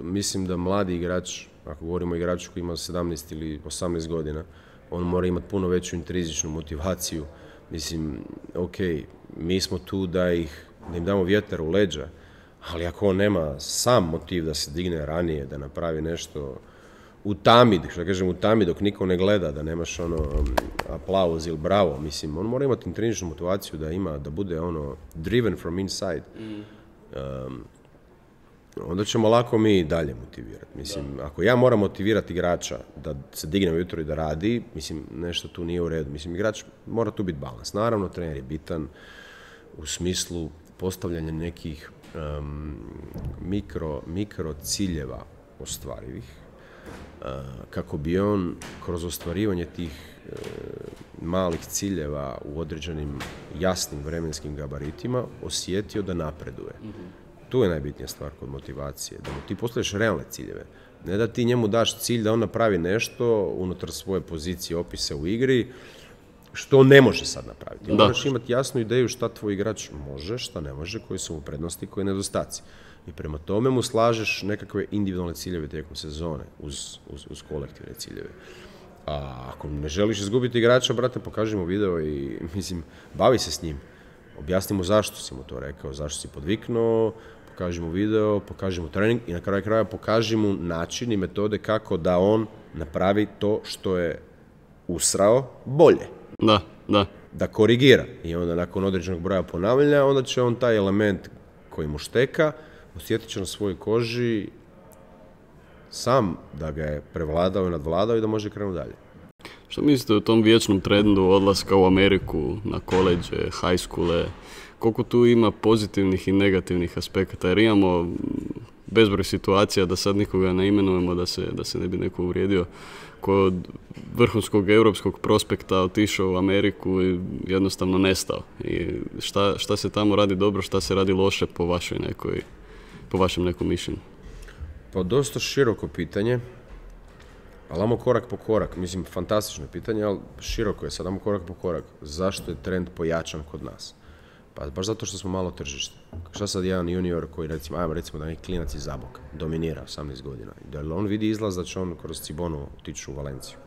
mislim da mladi igrač, ako govorimo o igraču koji ima sedamnaest ili osamnaest godina, on mora imati puno veću intrizičnu motivaciju. Mislim, ok, mi smo tu da ih, da im damo vjetar u leđa, ali ako on nema sam motiv da se digne ranije, da napravi nešto u tami, što kažem u tami dok niko ne gleda, da nemaš ono aplauz ili bravo, mislim, on mora imati intrizičnu motivaciju da ima, da bude ono driven from inside. Um, onda ćemo lako mi dalje motivirati. Mislim, da. Ako ja moram motivirati igrača da se digne ujutro i da radi, mislim, nešto tu nije u redu. Mislim, igrač mora tu biti balans. Naravno, trener je bitan u smislu postavljanja nekih um, mikro, mikro ciljeva ostvarivih, uh, kako bi on kroz ostvarivanje tih uh, malih ciljeva u određenim jasnim vremenskim gabaritima osjetio da napreduje. Mm-hmm. Tu je najbitnija stvar kod motivacije, da mu ti postaviš realne ciljeve. Ne da ti njemu daš cilj da on napravi nešto unutar svoje pozicije, opise u igri, što on ne može sad napraviti. Da. Moraš imati jasnu ideju šta tvoj igrač može, šta ne može, koji su mu prednosti, koji nedostaci. I prema tome mu slažeš nekakve individualne ciljeve tijekom sezone uz, uz, uz kolektivne ciljeve. A ako ne želiš izgubiti igrača, brate, pokaži mu video i, mislim, bavi se s njim. Objasni mu zašto si mu to rekao, zašto si podviknuo, pokaži mu video, pokaži mu trening i na kraju kraja pokaži mu način i metode kako da on napravi to što je usrao bolje. Da, da. Da korigira. I onda nakon određenog broja ponavljanja, onda će on taj element koji mu šteka osjetit će na svojoj koži sam da ga je prevladao i nadvladao i da može krenuti dalje. Što mislite o tom vječnom trendu odlaska u Ameriku, na koleđe, high schoole? Koliko tu ima pozitivnih i negativnih aspekata? Jer imamo bezbroj situacija, da sad nikoga ne imenujemo, da se, da se ne bi neko uvrijedio, koji je od vrhunskog europskog prospekta otišao u Ameriku i jednostavno nestao. I šta, šta se tamo radi dobro, šta se radi loše po vašoj nekoj, po vašem nekom mišljenju? Pa dosta široko pitanje, ali ajmo korak po korak. Mislim, fantastično pitanje, ali široko je sad, ajmo korak po korak. Zašto je trend pojačan kod nas? Pa baš zato što smo malo tržište. Šta sad jedan junior koji, recimo, ajmo recimo da neki klinac iz Zaboka, dominira osamnaest godina. Da li on vidi izlaz da će on kroz Cibonu otići u Valenciju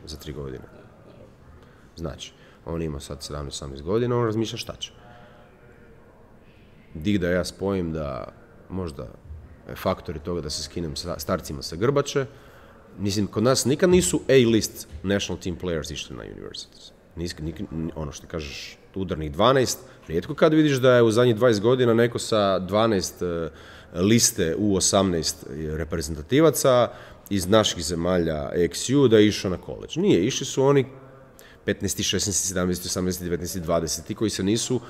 za tri godine? Znači, on ima sad sedamnaest osamnaest godina, on razmišlja šta će. Dik da ja spojim da možda faktori toga da se skinem sa starcima sa grbače. Mislim, kod nas nikad nisu A-list national team players išli na universities. Nis, nik, ono što kažeš, udarnih dvanaest, rijetko kad vidiš da je u zadnjih dvadeset godina neko sa dvanaest uh, liste u osamnaest reprezentativaca iz naših zemalja X U da je išao na koleđ. Nije, išli su oni petnaest, šesnaest, sedamnaest, osamnaest, devetnaest, dvadeset, ti koji se nisu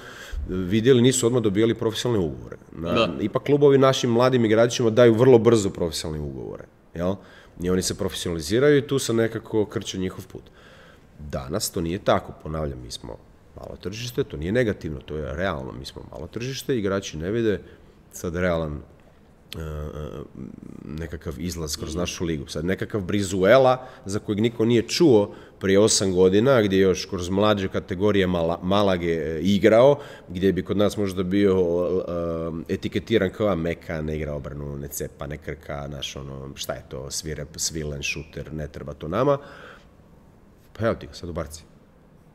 vidjeli, nisu odmah dobijali profesionalne ugovore. Na, ipak klubovi našim mladim igračima daju vrlo brzo profesionalne ugovore. Jel? I oni se profesionaliziraju i tu se nekako krče njihov put. Danas to nije tako, ponavljam, mi smo malo tržište, to nije negativno, to je realno, mi smo malo tržište, igrači ne vide sad realan uh, nekakav izlaz kroz našu ligu. Sad nekakav Brizuela, za kojeg niko nije čuo prije osam godina, gdje je još kroz mlađe kategorije Mala, Malage igrao, gdje bi kod nas možda bio uh, etiketiran kao meka, ne igra obranu, ne cepa, ne krka, naš ono, šta je to, svire, svilen, šuter, ne treba to nama. Pa evo ti ga sad u Barci.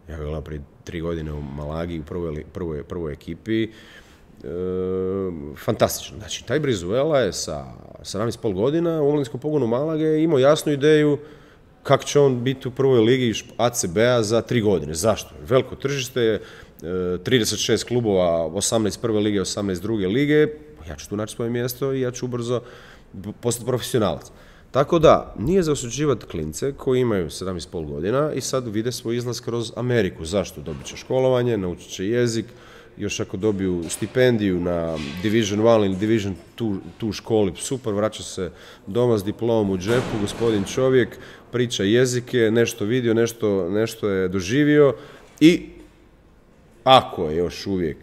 Ja ga gledam prije tri godine u Malagi, u prvoj, prvoj, prvoj ekipi. E, fantastično. Znači, taj Brizuela je sa sedamnaest i pol godina u omladinskom pogonu Malage imao jasnu ideju kako će on biti u prvoj ligi A C B-a za tri godine. Zašto? Veliko tržište, trideset šest klubova, osamnaest prve lige, osamnaest druge lige. Ja ću tu naći svoje mjesto i ja ću ubrzo postati profesionalac. Tako da, nije za osuđivati klince koji imaju sedamnaest i pol godina i sad vide svoj izlaz kroz Ameriku. Zašto? Dobit će školovanje, naučit će jezik, još ako dobiju stipendiju na Division jedan ili Division dva školi, super, vraća se doma s diplomom u džepu, gospodin čovjek, priča jezike, nešto vidio, nešto, nešto je doživio i ako je još uvijek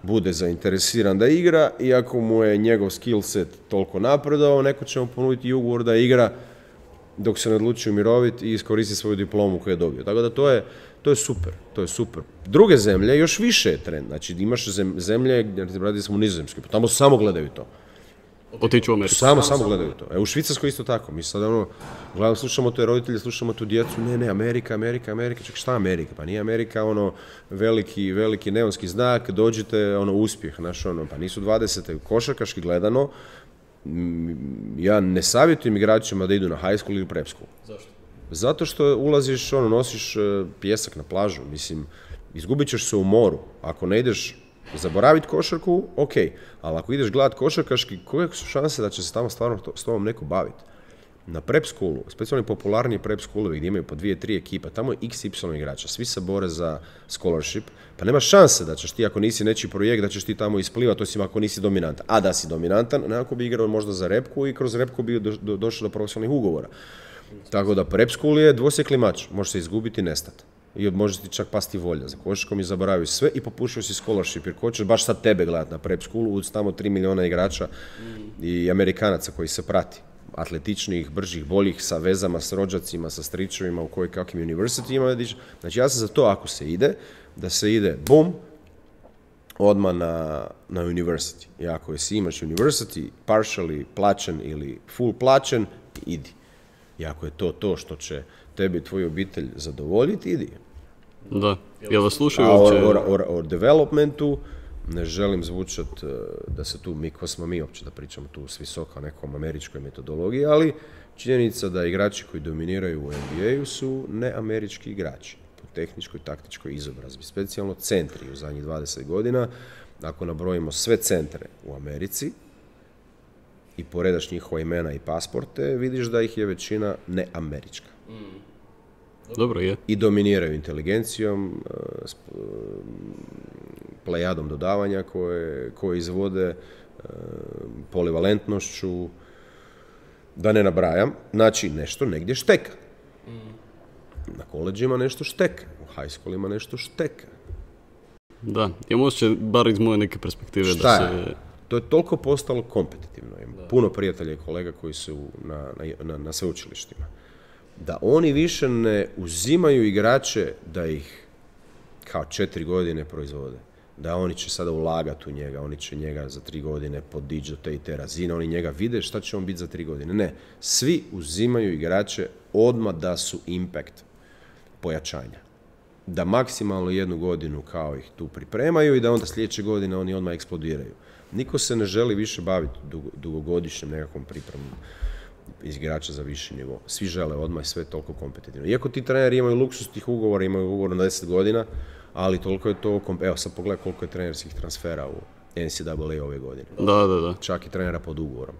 bude zainteresiran da igra i ako mu je njegov skill set toliko napredao, neko će mu ponuditi ugovor da igra dok se ne odluči umiroviti i iskoristi svoju diplomu koju je dobio. Tako da to je, to je super, to je super. Druge zemlje još više je trend, znači imaš zemlje gdje radi smo u Nizozemskoj, pa tamo samo gledaju to. Otiću u Ameriku. Samo, samo gledaju to. E, u Švicarskoj isto tako. Mi sad ono, gledamo, slušamo te roditelje, slušamo tu djecu, ne, ne, Amerika, Amerika, Amerika, čak šta Amerika? Pa nije Amerika ono veliki, veliki neonski znak, dođite, ono, uspjeh, znaš, ono, pa nisu dvadesete košarkaški gledano. Ja ne savjetujem igračima da idu na high school ili prep school. Zašto? Zato što ulaziš, ono, nosiš pijesak na plažu, mislim, izgubit ćeš se u moru. Ako ne ideš zaboraviti košarku, ok, ali ako ideš gledat košarkaški, koje su šanse da će se tamo stvarno to, s tobom neko baviti? Na prep schoolu, specijalno popularniji prep schoolovi gdje imaju po dvije, tri ekipa, tamo je iks ipsilon igrača, svi se bore za scholarship, pa nema šanse da ćeš ti, ako nisi nečiji projekt, da ćeš ti tamo isplivati, osim ako nisi dominantan. A da si dominantan, nekako bi igrao možda za repku i kroz repku bi do, do, došao do profesionalnih ugovora. Tako da prep school je dvosjekli mač, može se izgubiti i nestati. I može ti čak pasti volja za košarkom i zaboraviš sve i popušio si scholarship, jer ko će baš sad tebe gledati na prep schoolu, uz tamo tri milijuna igrača i Amerikanaca koji se prati. Atletičnijih, bržih, boljih, sa vezama, s rođacima, sa stričevima u koji kakvim universityima. Znači ja sam za to, ako se ide, da se ide, bum, odmah na, na university. I ako jesi imaš university, partially plaćen ili full plaćen, idi. I ako je to to što će tebi i tvoju obitelj zadovoljiti, idi. Da, jel vas slušaju A uopće? o, o, o, o developmentu ne želim zvučat da se tu, mi ko smo mi uopće da pričamo tu s visoka nekom američkoj metodologiji, ali činjenica da igrači koji dominiraju u N B A-u su neamerički igrači po tehničkoj, taktičkoj izobrazbi, specijalno centri u zadnjih dvadeset godina. Ako nabrojimo sve centre u Americi i poredaš njihova imena i pasporte, vidiš da ih je većina neamerička. Dobro je. I dominiraju inteligencijom, plejadom dodavanja koje, koje izvode, polivalentnošću, da ne nabrajam. Znači, nešto negdje šteka. Na koleđima nešto šteka, u high schoolima nešto šteka. Da, ja možda bar iz moje neke perspektive Šta da se... je? To je toliko postalo kompetitivno. Ima puno prijatelja i kolega koji su na, na, na sveučilištima. Da oni više ne uzimaju igrače da ih kao četiri godine proizvode. Da oni će sada ulagati u njega, oni će njega za tri godine podići do te i te razine, oni njega vide šta će on biti za tri godine. Ne, svi uzimaju igrače odmah da su impact pojačanja. Da maksimalno jednu godinu kao ih tu pripremaju i da onda sljedeće godine oni odmah eksplodiraju. Niko se ne želi više baviti dugo, dugogodišnjim nekakvom pripremom iz igrača za viši nivo. Svi žele odmah i sve je toliko kompetitivno. Iako ti treneri imaju luksus tih ugovora, imaju ugovor na deset godina, ali toliko je to... Evo sad pogledaj koliko je trenerskih transfera u N C A A ove godine. Da, da, da. Čak i trenera pod ugovorom.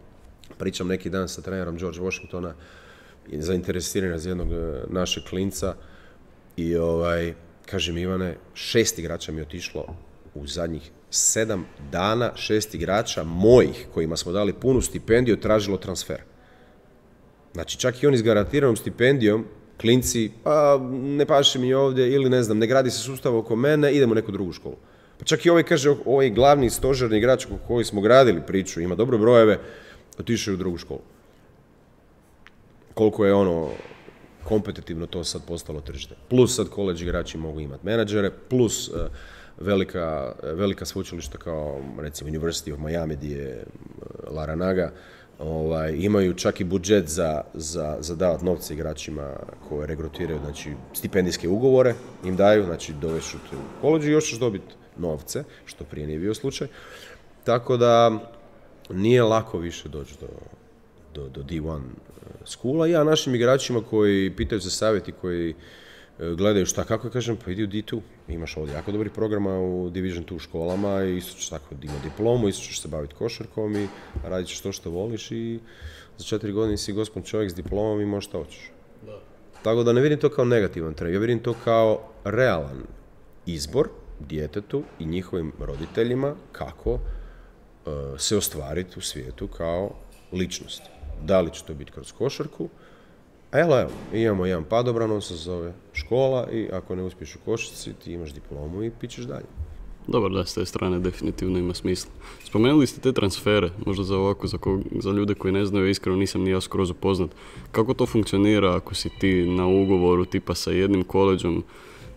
Pričam neki dan sa trenerom George Washingtona, zainteresiran za jednog našeg klinca i ovaj, kaže mi Ivane, šest igrača mi je otišlo u zadnjih sedam dana, šest igrača mojih kojima smo dali punu stipendiju tražilo transfer. Znači čak i oni s garantiranom stipendijom, klinci, pa ne paše mi ovdje ili ne znam, ne gradi se sustav oko mene, idemo u neku drugu školu. Pa čak i ovaj kaže, ovaj glavni stožerni igrač koji smo gradili priču, ima dobre brojeve, otišao je u drugu školu. Koliko je ono kompetitivno to sad postalo tržište. Plus sad college igrači mogu imati menadžere, plus uh, velika, velika sveučilišta kao recimo University of Miami gdje je uh, Laranaga, ovaj, imaju čak i budžet za, za, za davati novce igračima koje regrutiraju, znači stipendijske ugovore im daju, znači dovešću te u college i još ćeš dobiti novce, što prije nije bio slučaj. Tako da nije lako više doći do, do, do D jedan schoola. Ja našim igračima koji pitaju za savjeti, koji gledaju šta, kako kažem, pa idi u D dva. Imaš ovdje jako dobrih programa u Division dva školama i isto ćeš tako imati diplomu, isto ćeš se baviti košarkom i radit ćeš to što voliš i za četiri godine si gospon čovjek s diplomom i možeš šta hoćeš. Da. Tako da ne vidim to kao negativan trend, ja vidim to kao realan izbor djetetu i njihovim roditeljima kako uh, se ostvariti u svijetu kao ličnost. Da li će to biti kroz košarku? Evo, evo, imamo jedan padobran, on se zove škola i ako ne uspiješ u košarci, ti imaš diplomu i pićeš dalje. Dobar, da, s te strane definitivno ima smisla. Spomenuli ste te transfere, možda za ovako, za, ko, za ljude koji ne znaju, iskreno nisam ni ja skroz upoznat. Kako to funkcionira ako si ti na ugovoru tipa sa jednim koleđom?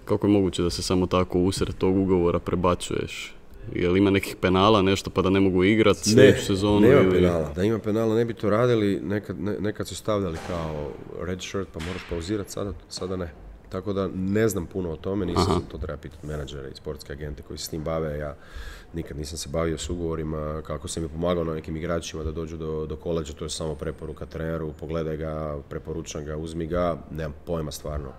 Kako je moguće da se samo tako usred tog ugovora prebacuješ? Jel ima nekih penala, nešto pa da ne mogu igrati sljedeću sezonu? Ne, nema ili... penala. Da ima penala ne bi to radili, nekad, ne, nekad su stavljali kao red shirt pa moraš pauzirati, sada, sada ne. Tako da ne znam puno o tome, nisam, Aha. to treba pitati menadžere i sportske agente koji se s tim bave. Ja nikad nisam se bavio s ugovorima, kako sam mi pomagao na nekim igračima da dođu do, do koleđa, to je samo preporuka treneru, pogledaj ga, preporučam ga, uzmi ga, nemam pojma stvarno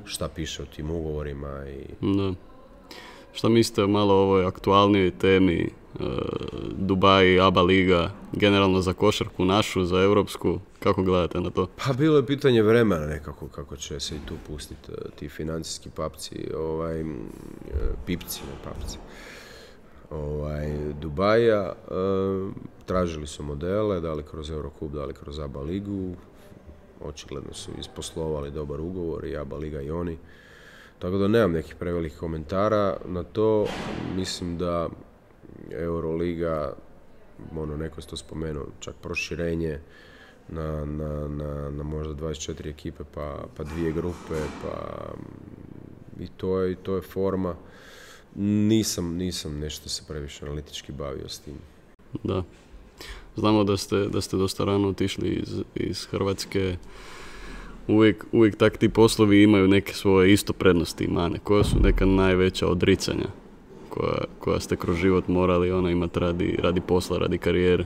šta piše o tim ugovorima. I... Da. Šta mislite o malo ovoj aktualnijoj temi Dubai, A B A liga, generalno za košarku našu, za europsku, kako gledate na to? Pa bilo je pitanje vremena nekako kako će se i tu pustiti ti financijski papci, ovaj, pipci, ne papci. Ovaj, Dubaja, e, tražili su modele, da li kroz Eurocup, da li kroz A B A ligu, očigledno su isposlovali dobar ugovor i A B A liga i oni. Tako da nemam nekih prevelikih komentara na to. Mislim da Euroliga, ono, neko je to spomenuo, čak proširenje na, na, na, na možda dvadeset četiri ekipe, pa, pa dvije grupe, pa i to je, i to je forma. Nisam, nisam nešto se previše analitički bavio s tim. Da. Znamo da ste, da ste dosta rano otišli iz, iz Hrvatske. Uvijek, uvijek tak ti poslovi imaju neke svoje isto prednosti i mane. Koja su neka najveća odricanja koja, koja ste kroz život morali ono, imati radi, radi posla, radi karijere?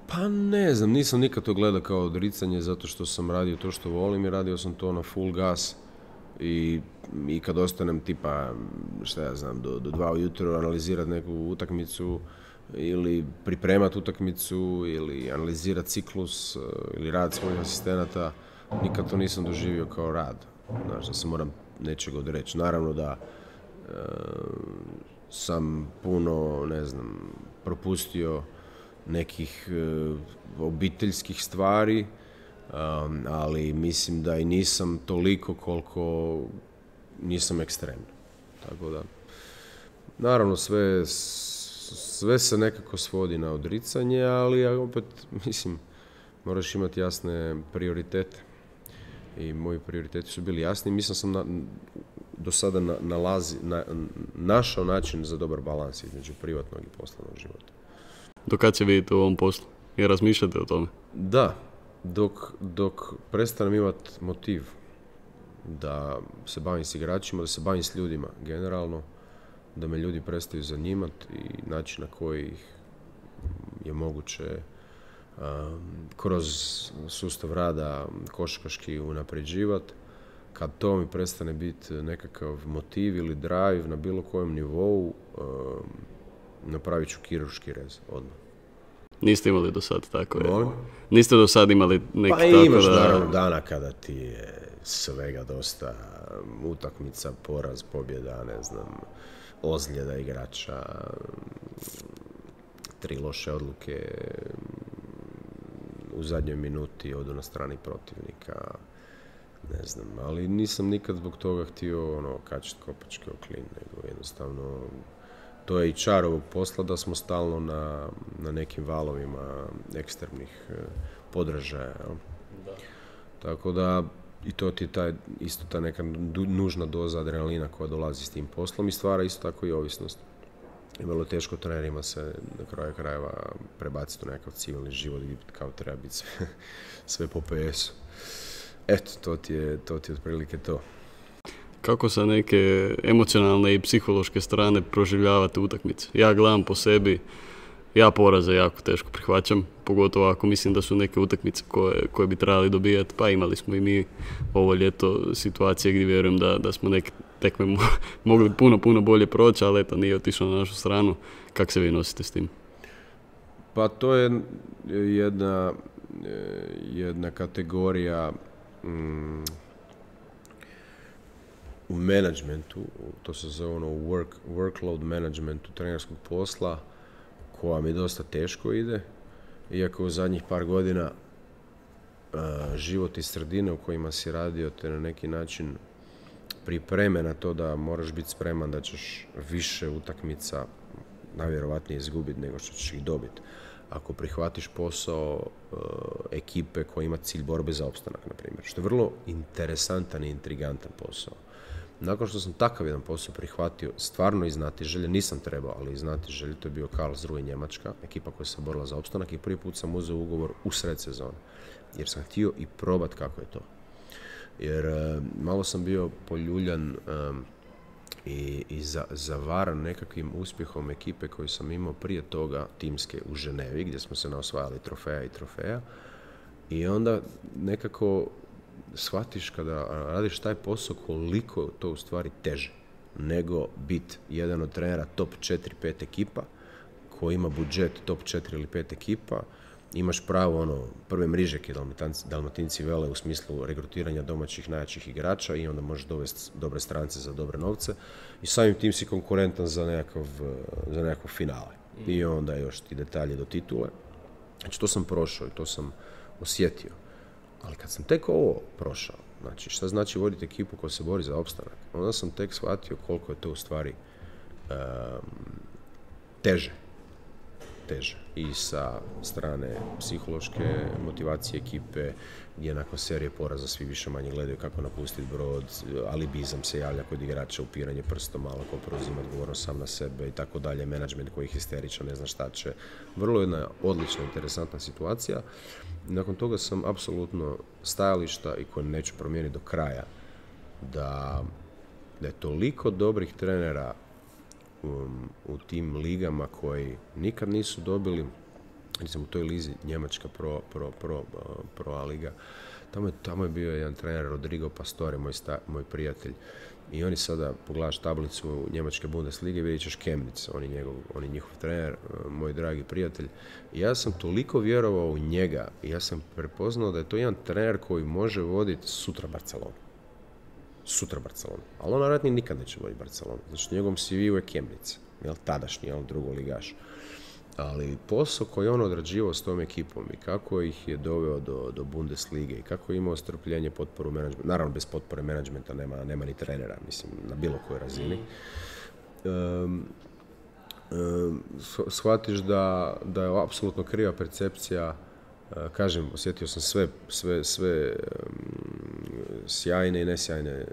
Pa ne znam, nisam nikad to gledao kao odricanje zato što sam radio to što volim i radio sam to na full gas. I, i kad ostanem tipa, šta ja znam, do, do dva ujutro analizirati neku utakmicu ili pripremati utakmicu ili analizirati ciklus ili rad svojih asistenata, nikad to nisam doživio kao rad. Znaš, da se moram nečeg odreći. Naravno da e, sam puno, ne znam, propustio nekih e, obiteljskih stvari, Um, ali mislim da i nisam toliko koliko nisam ekstremno. Tako da, naravno sve, sve se nekako svodi na odricanje, ali opet, mislim, moraš imati jasne prioritete. I moji prioriteti su bili jasni. Mislim sam na, do sada na, nalazi, na, našao način za dobar balans između privatnog i poslovnog života. Do kad se vidite u ovom poslu? I razmišljate o tome? Da. Dok, dok prestanem imati motiv da se bavim s igračima, da se bavim s ljudima generalno, da me ljudi prestaju zanimati i način na koji ih je moguće um, kroz sustav rada košarkaški unapređivati, kad to mi prestane biti nekakav motiv ili drive na bilo kojem nivou, um, napravit ću kirurški rez odmah. Niste imali do sad tako je? Molim? Niste do sad imali neki pa tako da... Pa imaš naravno dana kada ti je svega dosta, utakmica, poraz, pobjeda, ne znam, ozljeda igrača, tri loše odluke u zadnjoj minuti odu na strani protivnika, ne znam, ali nisam nikad zbog toga htio ono, kačiti kopačke o klin, nego jednostavno to je i čar ovog posla da smo stalno na, na nekim valovima ekstremnih eh, podražaja. Da. Tako da i to ti je taj, isto ta neka nužna doza adrenalina koja dolazi s tim poslom i stvara isto tako i ovisnost. I vrlo teško trenerima se na kraju krajeva prebaciti u nekakav civilni život gdje kao treba biti sve, sve po P S-u. Eto, to ti je, to ti je otprilike to. Kako sa neke emocionalne i psihološke strane proživljavate utakmice? Ja gledam po sebi, ja poraze jako teško prihvaćam, pogotovo ako mislim da su neke utakmice koje, koje bi trebali dobijati, pa imali smo i mi ovo ljeto situacije gdje vjerujem da, da smo neke tekme mo- mogli puno, puno bolje proći, ali eto nije otišlo na našu stranu. Kako se vi nosite s tim? Pa to je jedna, jedna kategorija mm, u menadžmentu, to se zove ono work, workload managementu trenerskog posla, koja mi dosta teško ide, iako u zadnjih par godina uh, život i sredine u kojima si radio te na neki način pripreme na to da moraš biti spreman da ćeš više utakmica najvjerovatnije izgubiti nego što ćeš ih dobiti. Ako prihvatiš posao uh, ekipe koja ima cilj borbe za opstanak, na primjer, što je vrlo interesantan i intrigantan posao. Nakon što sam takav jedan posao prihvatio, stvarno iz znatiželje, nisam trebao, ali iz znatiželje, to je bio Karlsruhe Njemačka, ekipa koja se borila za opstanak i prvi put sam uzeo ugovor u sred sezone, jer sam htio i probat kako je to. Jer uh, malo sam bio poljuljan um, i, i za, zavaran nekakvim uspjehom ekipe koju sam imao prije toga timske u Ženevi, gdje smo se naosvajali trofeja i trofeja. I onda nekako shvatiš kada radiš taj posao koliko je to u stvari teže nego biti jedan od trenera top četiri pet ekipa ko ima budžet top četiri ili pet ekipa, imaš pravo ono, prve mrižeke Dalmatinci, Dalmatinci vele u smislu regrutiranja domaćih najjačih igrača i onda možeš dovesti dobre strance za dobre novce i samim tim si konkurentan za nekakav, za nekakav finale. Mm. I onda još ti detalje do titule. Znači to sam prošao i to sam osjetio. Ali kad sam tek ovo prošao, znači šta znači voditi ekipu koja se bori za opstanak, onda sam tek shvatio koliko je to u stvari um, teže. teže. I sa strane psihološke motivacije ekipe, gdje nakon serije poraza svi više manje gledaju kako napustiti brod, alibizam se javlja kod igrača, upiranje prstom, malo ko preuzima odgovornost sam na sebe i tako dalje, menadžment koji je histeričan, ne zna šta će. Vrlo jedna odlična, interesantna situacija. Nakon toga sam apsolutno stajališta i koje neću promijeniti do kraja, da, da je toliko dobrih trenera Um, u tim ligama koji nikad nisu dobili, recimo u toj lizi Njemačka pro, pro, pro, uh, pro A liga, tamo je, tamo je bio jedan trener Rodrigo Pastore, moj, sta, moj prijatelj, i oni sada, pogledaš tablicu Njemačke Bundeslige, vidjet ćeš Chemnitz, on je, njegov, on je njihov trener, uh, moj dragi prijatelj. I ja sam toliko vjerovao u njega i ja sam prepoznao da je to jedan trener koji može voditi sutra Barcelonu. Sutra Barcelona. Ali on naravno nikad neće voditi Barcelonu. Znači u njegovom C V-u je Chemnitz, jel, tadašnji, jel, drugoligaš. Ali posao koji on odrađivao s tom ekipom i kako ih je doveo do, do Bundeslige i kako je imao strpljenje, potporu menadžmenta, naravno bez potpore menadžmenta nema, nema ni trenera, mislim, na bilo kojoj razini. Um, um, shvatiš da, da je apsolutno kriva percepcija. Kažem, osjetio sam sve, sve, sve um, sjajne i nesjajne,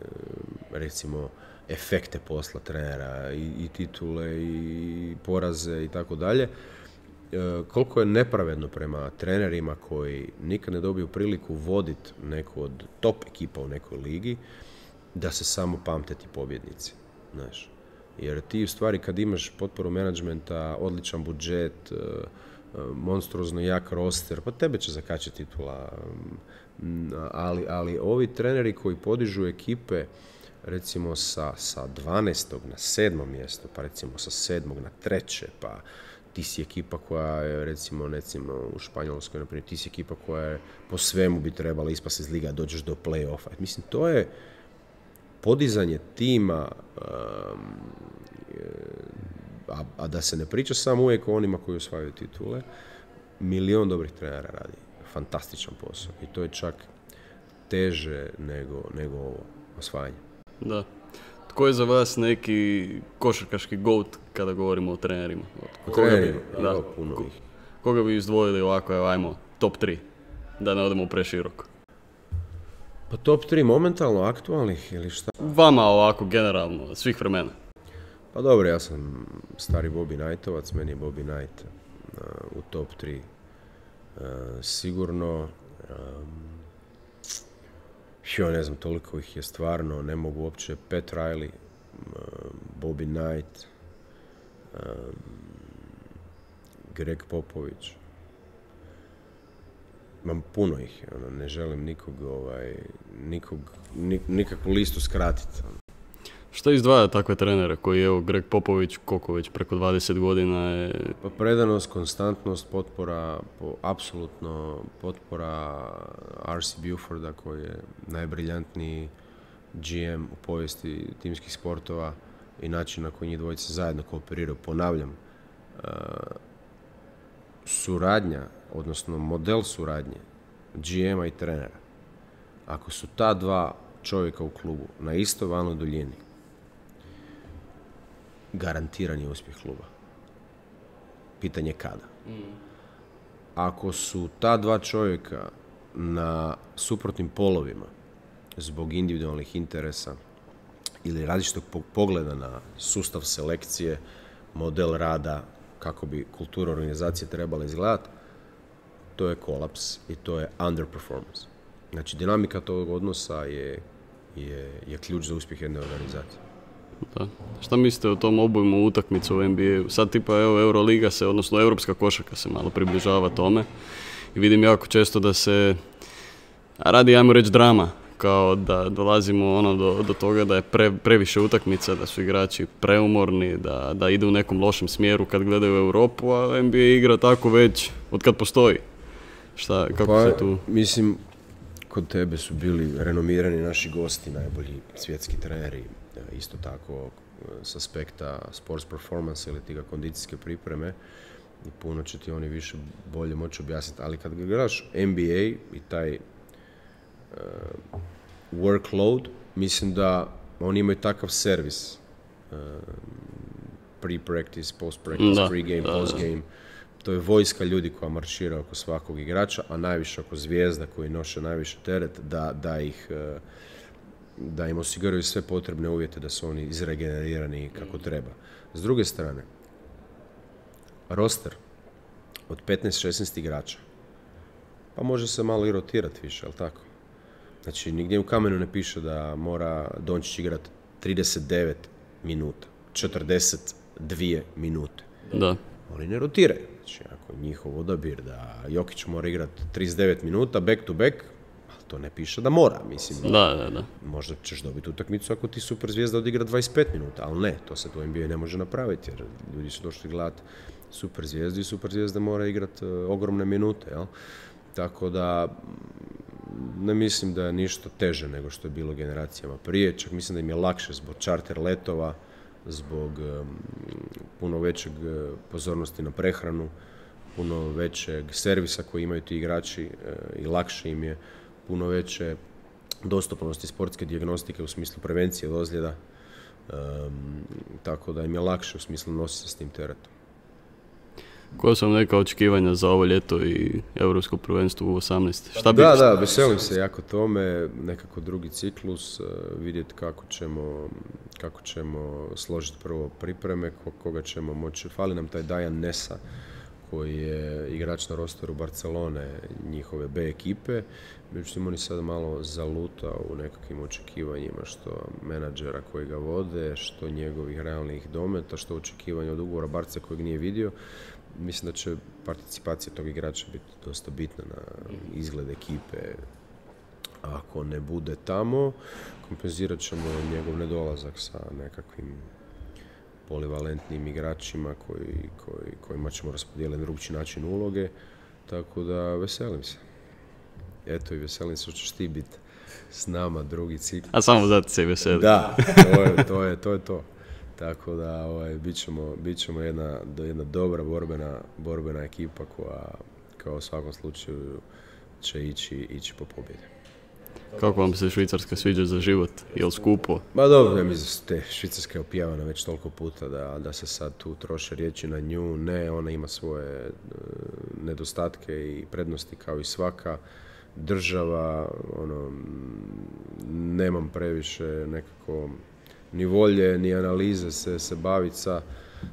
recimo, efekte posla trenera i, i titule i poraze i tako dalje. Koliko je nepravedno prema trenerima koji nikad ne dobiju priliku voditi neku od top ekipa u nekoj ligi, da se samo pamte ti pobjednici, znaš. Jer ti u stvari kad imaš potporu menadžmenta, odličan budžet, monstruozno jak roster, pa tebe će zakačiti titula. Ali, ali ovi treneri koji podižu ekipe recimo sa, sa dvanaestog na sedmom mjesto, pa recimo sa sedmog na treće, pa ti si ekipa koja je recimo, recimo u Španjolskoj, naprimjer, ti si ekipa koja je po svemu bi trebala ispasti iz liga, dođeš do play-offa. Mislim, to je podizanje tima, um, A, a da se ne priča samo uvijek o onima koji osvajaju titule, milion dobrih trenera radi fantastičan posao i to je čak teže nego, nego ovo osvajanje. Da. Tko je za vas neki košarkaški goat kada govorimo o trenerima? O trenerima, bi, da, puno ih. Koga bi izdvojili ovako, evo, ajmo, top tri, da ne odemo preširoko? Pa top tri momentalno aktualnih ili šta? Vama ovako, generalno, svih vremena. Pa dobro, ja sam stari Bobby Knightovac, meni je Bobby Knight uh, u top tri uh, sigurno. Um, jo, ne znam, toliko ih je stvarno, ne mogu uopće. Pat Riley, uh, Bobby Knight, um, Greg Popovich. Imam puno ih, ono, ne želim nikog, ovaj, nikog, nik, nikakvu listu skratiti. Što izdvaja takve trenere koji je, evo, Greg Popović, koliko već preko dvadeset godina je... Pa predanost, konstantnost, potpora, po, apsolutno potpora R C Buforda koji je najbriljantniji G M u povijesti timskih sportova i način na koji njih dvojice zajedno kooperiraju. Ponavljam, uh, suradnja, odnosno model suradnje G M-a i trenera. Ako su ta dva čovjeka u klubu na istoj valnoj duljini, garantiran je uspjeh kluba. Pitanje kada. Mm. Ako su ta dva čovjeka na suprotnim polovima zbog individualnih interesa ili različitog pogleda na sustav selekcije, model rada, kako bi kultura organizacije trebala izgledati, to je kolaps i to je underperformance. Znači, dinamika tog odnosa je, je, je ključ za uspjeh jedne organizacije. Da. Šta mislite o tom obujmu utakmicu u N B A-u? Sad tipa evo Euroliga se, odnosno europska košarka se malo približava tome i vidim jako često da se radi, ajmo reći, drama kao da dolazimo ono do, do toga da je pre, previše utakmica, da su igrači preumorni, da, da idu u nekom lošem smjeru kad gledaju Europu, a N B A igra tako već od kad postoji. Šta, kako pa, se tu... Mislim, kod tebe su bili renomirani naši gosti, najbolji svjetski treneri, isto tako s aspekta sports performance ili tiga kondicijske pripreme, i puno će ti oni više bolje moći objasniti. Ali kad gledaš N B A i taj uh, workload, mislim da oni imaju takav servis, uh, pre-practice, post-practice, pre-game, post-game. To je vojska ljudi koja maršira oko svakog igrača, a najviše oko zvijezda koji noše najviše teret, da, da ih uh, da im osiguraju sve potrebne uvjete da su oni izregenerirani kako treba. S druge strane, roster od petnaest šesnaest igrača, pa može se malo i rotirati više, ali tako? Znači, nigdje u kamenu ne piše da mora Dončić igrati trideset devet minuta, četrdeset dvije minute. Da. Oni ne rotiraju. Znači, ako njihov odabir da Jokić mora igrati trideset devet minuta, back to back, to ne piše da mora, mislim. Da, da, da. Možda ćeš dobiti utakmicu ako ti super zvijezda odigra dvadeset pet minuta, ali ne, to se u N B A ne može napraviti, jer ljudi su došli gledati super zvijezdu i super zvijezda mora igrati uh, ogromne minute, jel? Tako da ne mislim da je ništa teže nego što je bilo generacijama prije, čak mislim da im je lakše zbog charter letova, zbog um, puno većeg uh, pozornosti na prehranu, puno većeg servisa koji imaju ti igrači uh, i lakše im je, puno veće dostupnosti sportske dijagnostike u smislu prevencije od ozljeda, um, tako da im je lakše u smislu nositi se s tim teretom. Koja su vam neka očekivanja za ovo ljeto i Europsko prvenstvo u osamnaest? Šta bi... Da, da, veselim se jako tome, nekako drugi ciklus, uh, vidjeti kako ćemo, kako ćemo složiti prvo pripreme, koga ćemo moći. Fali nam taj Dajan Nesa, koji je igrač na rosteru Barcelone, njihove B ekipe. Međutim, oni sad malo zalutao u nekakvim očekivanjima, što menadžera koji ga vode, što njegovih realnih dometa, što očekivanja od ugovora Barce kojeg nije vidio. Mislim da će participacija tog igrača biti dosta bitna na izgled ekipe. Ako ne bude tamo, kompenzirat ćemo njegov nedolazak sa nekakvim polivalentnim igračima koji, koji, kojima ćemo raspodijeliti drugčiji način uloge, tako da veselim se. Eto i veselim se što ćeš ti biti s nama drugi cikl. A samo zato se veseli. Da, to je to. Je, to, je to. Tako da ovaj, bit ćemo, bit ćemo jedna, jedna dobra borbena, borbena ekipa koja kao u svakom slučaju će ići, ići po pobjedi. Kako vam se Švicarska sviđa za život? Je li skupo? Ma dobro, ja mislim te Švicarska je opjavana već toliko puta da, da se sad tu troše riječi na nju. Ne, ona ima svoje uh, nedostatke i prednosti kao i svaka država. Ono, nemam previše nekako ni volje, ni analize se, se baviti sa,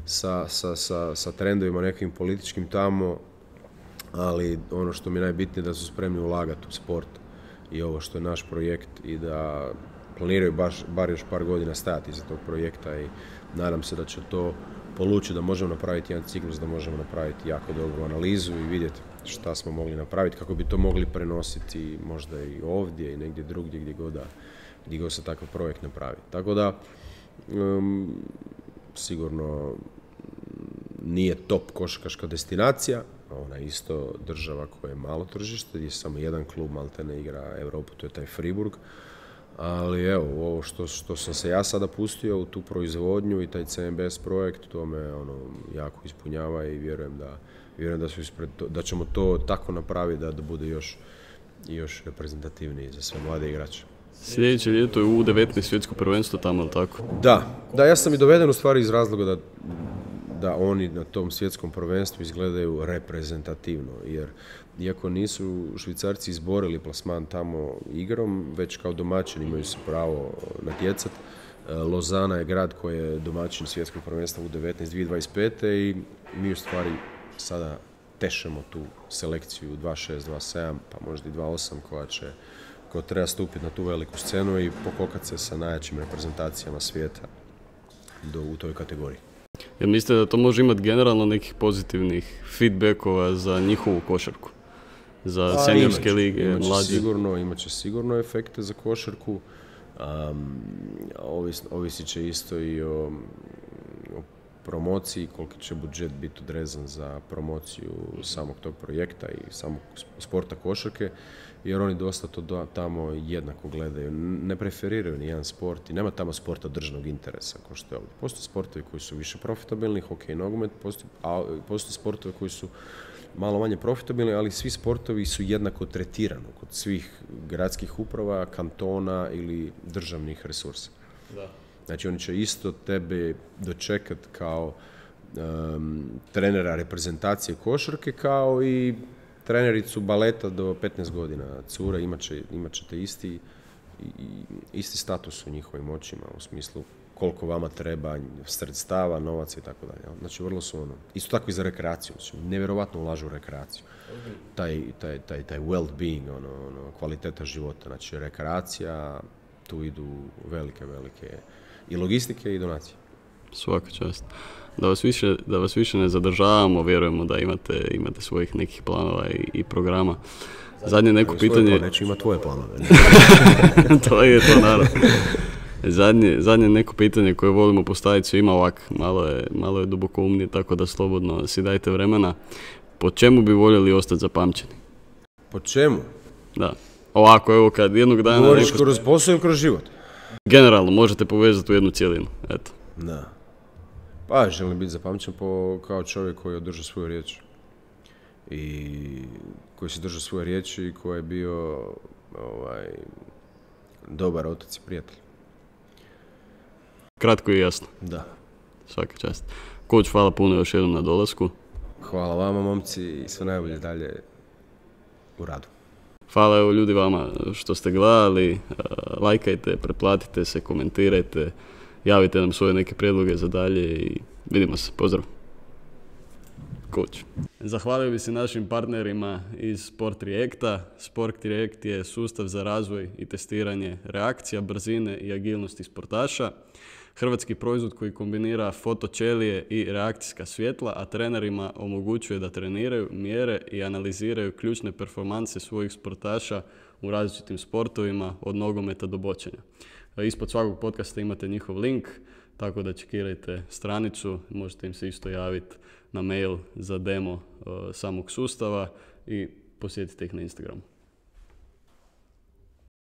sa, sa, sa, sa trendovima nekim političkim tamo, ali ono što mi je najbitnije da su spremni ulagati u sport i ovo što je naš projekt i da planiraju baš, bar još par godina stajati iza tog projekta i nadam se da će to polučiti da možemo napraviti jedan ciklus, da možemo napraviti jako dobru analizu i vidjeti šta smo mogli napraviti, kako bi to mogli prenositi možda i ovdje i negdje drugdje gdje god, da, gdje god se takav projekt napravi. Tako da um, sigurno nije top košarkaška destinacija, ona je isto država koja je malo tržište, gdje samo jedan klub maltene igra Europu, to je taj Friburg. Ali evo, ovo što, što sam se ja sada pustio u tu proizvodnju i taj C M B S projekt, to me ono, jako ispunjava i vjerujem da, vjerujem da, su ispred, da ćemo to tako napraviti da, da bude još, još reprezentativniji za sve mlade igrače. Sljedeće ljeto je U devetnaest svjetsko prvenstvo tamo, ali tako? Da, da, ja sam i doveden u stvari iz razloga da, da oni na tom svjetskom prvenstvu izgledaju reprezentativno, jer iako nisu Švicarci izborili plasman tamo igrom, već kao domaćin imaju se pravo natjecati. Lozana je grad koji je domaćin svjetskog prvenstva U devetnaest dvije tisuće dvadeset pete i mi u stvari sada tešemo tu selekciju dva šest, dva sedam, pa možda i dva osam koja će koja treba stupiti na tu veliku scenu i pokokati se sa najjačim reprezentacijama svijeta do, u toj kategoriji. Jel mislite da to može imati generalno nekih pozitivnih feedbackova za njihovu košarku? za A, seniorske imaće, lige, imaće mlađe? Sigurno, imat će sigurno efekte za košarku. Um, ovis, ovisit će isto i o, o promociji, koliki će budžet biti odrezan za promociju samog tog projekta i samog sporta košarke, jer oni dosta to do, tamo jednako gledaju. Ne preferiraju ni jedan sport i nema tamo sporta državnog interesa, kao što je ovdje. Postoje sportovi koji su više profitabilni, hokej i nogomet, postoje, a postoje sportovi koji su malo manje profitabilni, ali svi sportovi su jednako tretirani kod svih gradskih uprava, kantona ili državnih resursa. Da. Znači oni će isto tebe dočekati kao um, trenera reprezentacije košarke, kao i trenericu baleta do petnaest godina. Cura imat, će, imat ćete isti, i, isti status u njihovim očima, u smislu koliko vama treba sredstava, novaca i tako dalje. Znači vrlo su ono, isto tako i za rekreaciju, znači nevjerovatno ulažu u rekreaciju. Taj, taj, taj, taj well-being, ono, ono, kvaliteta života, znači rekreacija, tu idu velike, velike i logistike i donacije. Svaka čast. Da vas više, da vas više ne zadržavamo, vjerujemo da imate, imate svojih nekih planova i, i programa. Zadnje neko pitanje... Neće ima tvoje planove. To je to, naravno. Zadnje, zadnje neko pitanje koje volimo postaviti svima ovak, malo je, malo je duboko umnije, tako da slobodno si dajte vremena. Po čemu bi voljeli ostati zapamćeni? Po čemu? Da. Ovako, evo kad jednog dana... Govoriš neko... kroz posao ili kroz život? Generalno, možete povezati u jednu cijelinu, eto. Da. Pa, želim biti zapamćen po, kao čovjek koji je održao svoju riječ. I koji se držao svoje riječi i koji je bio ovaj, dobar otac i prijatelj. Kratko i jasno. Da. Svaka čast. Coach, hvala puno još jednom na dolasku. Hvala vama, momci, i sve najbolje dalje u radu. Hvala evo ljudi vama što ste gledali. Lajkajte, pretplatite se, komentirajte, javite nam svoje neke prijedloge za dalje i vidimo se. Pozdrav. Coach. Zahvalio bi se našim partnerima iz Sport Reacta. Sport React je sustav za razvoj i testiranje reakcija, brzine i agilnosti sportaša. Hrvatski proizvod koji kombinira fotoćelije i reakcijska svjetla, a trenerima omogućuje da treniraju, mjere i analiziraju ključne performanse svojih sportaša u različitim sportovima, od nogometa do bočenja. Ispod svakog podcasta imate njihov link, tako da čekirajte stranicu, možete im se isto javiti na mail za demo uh, samog sustava i posjetite ih na Instagramu.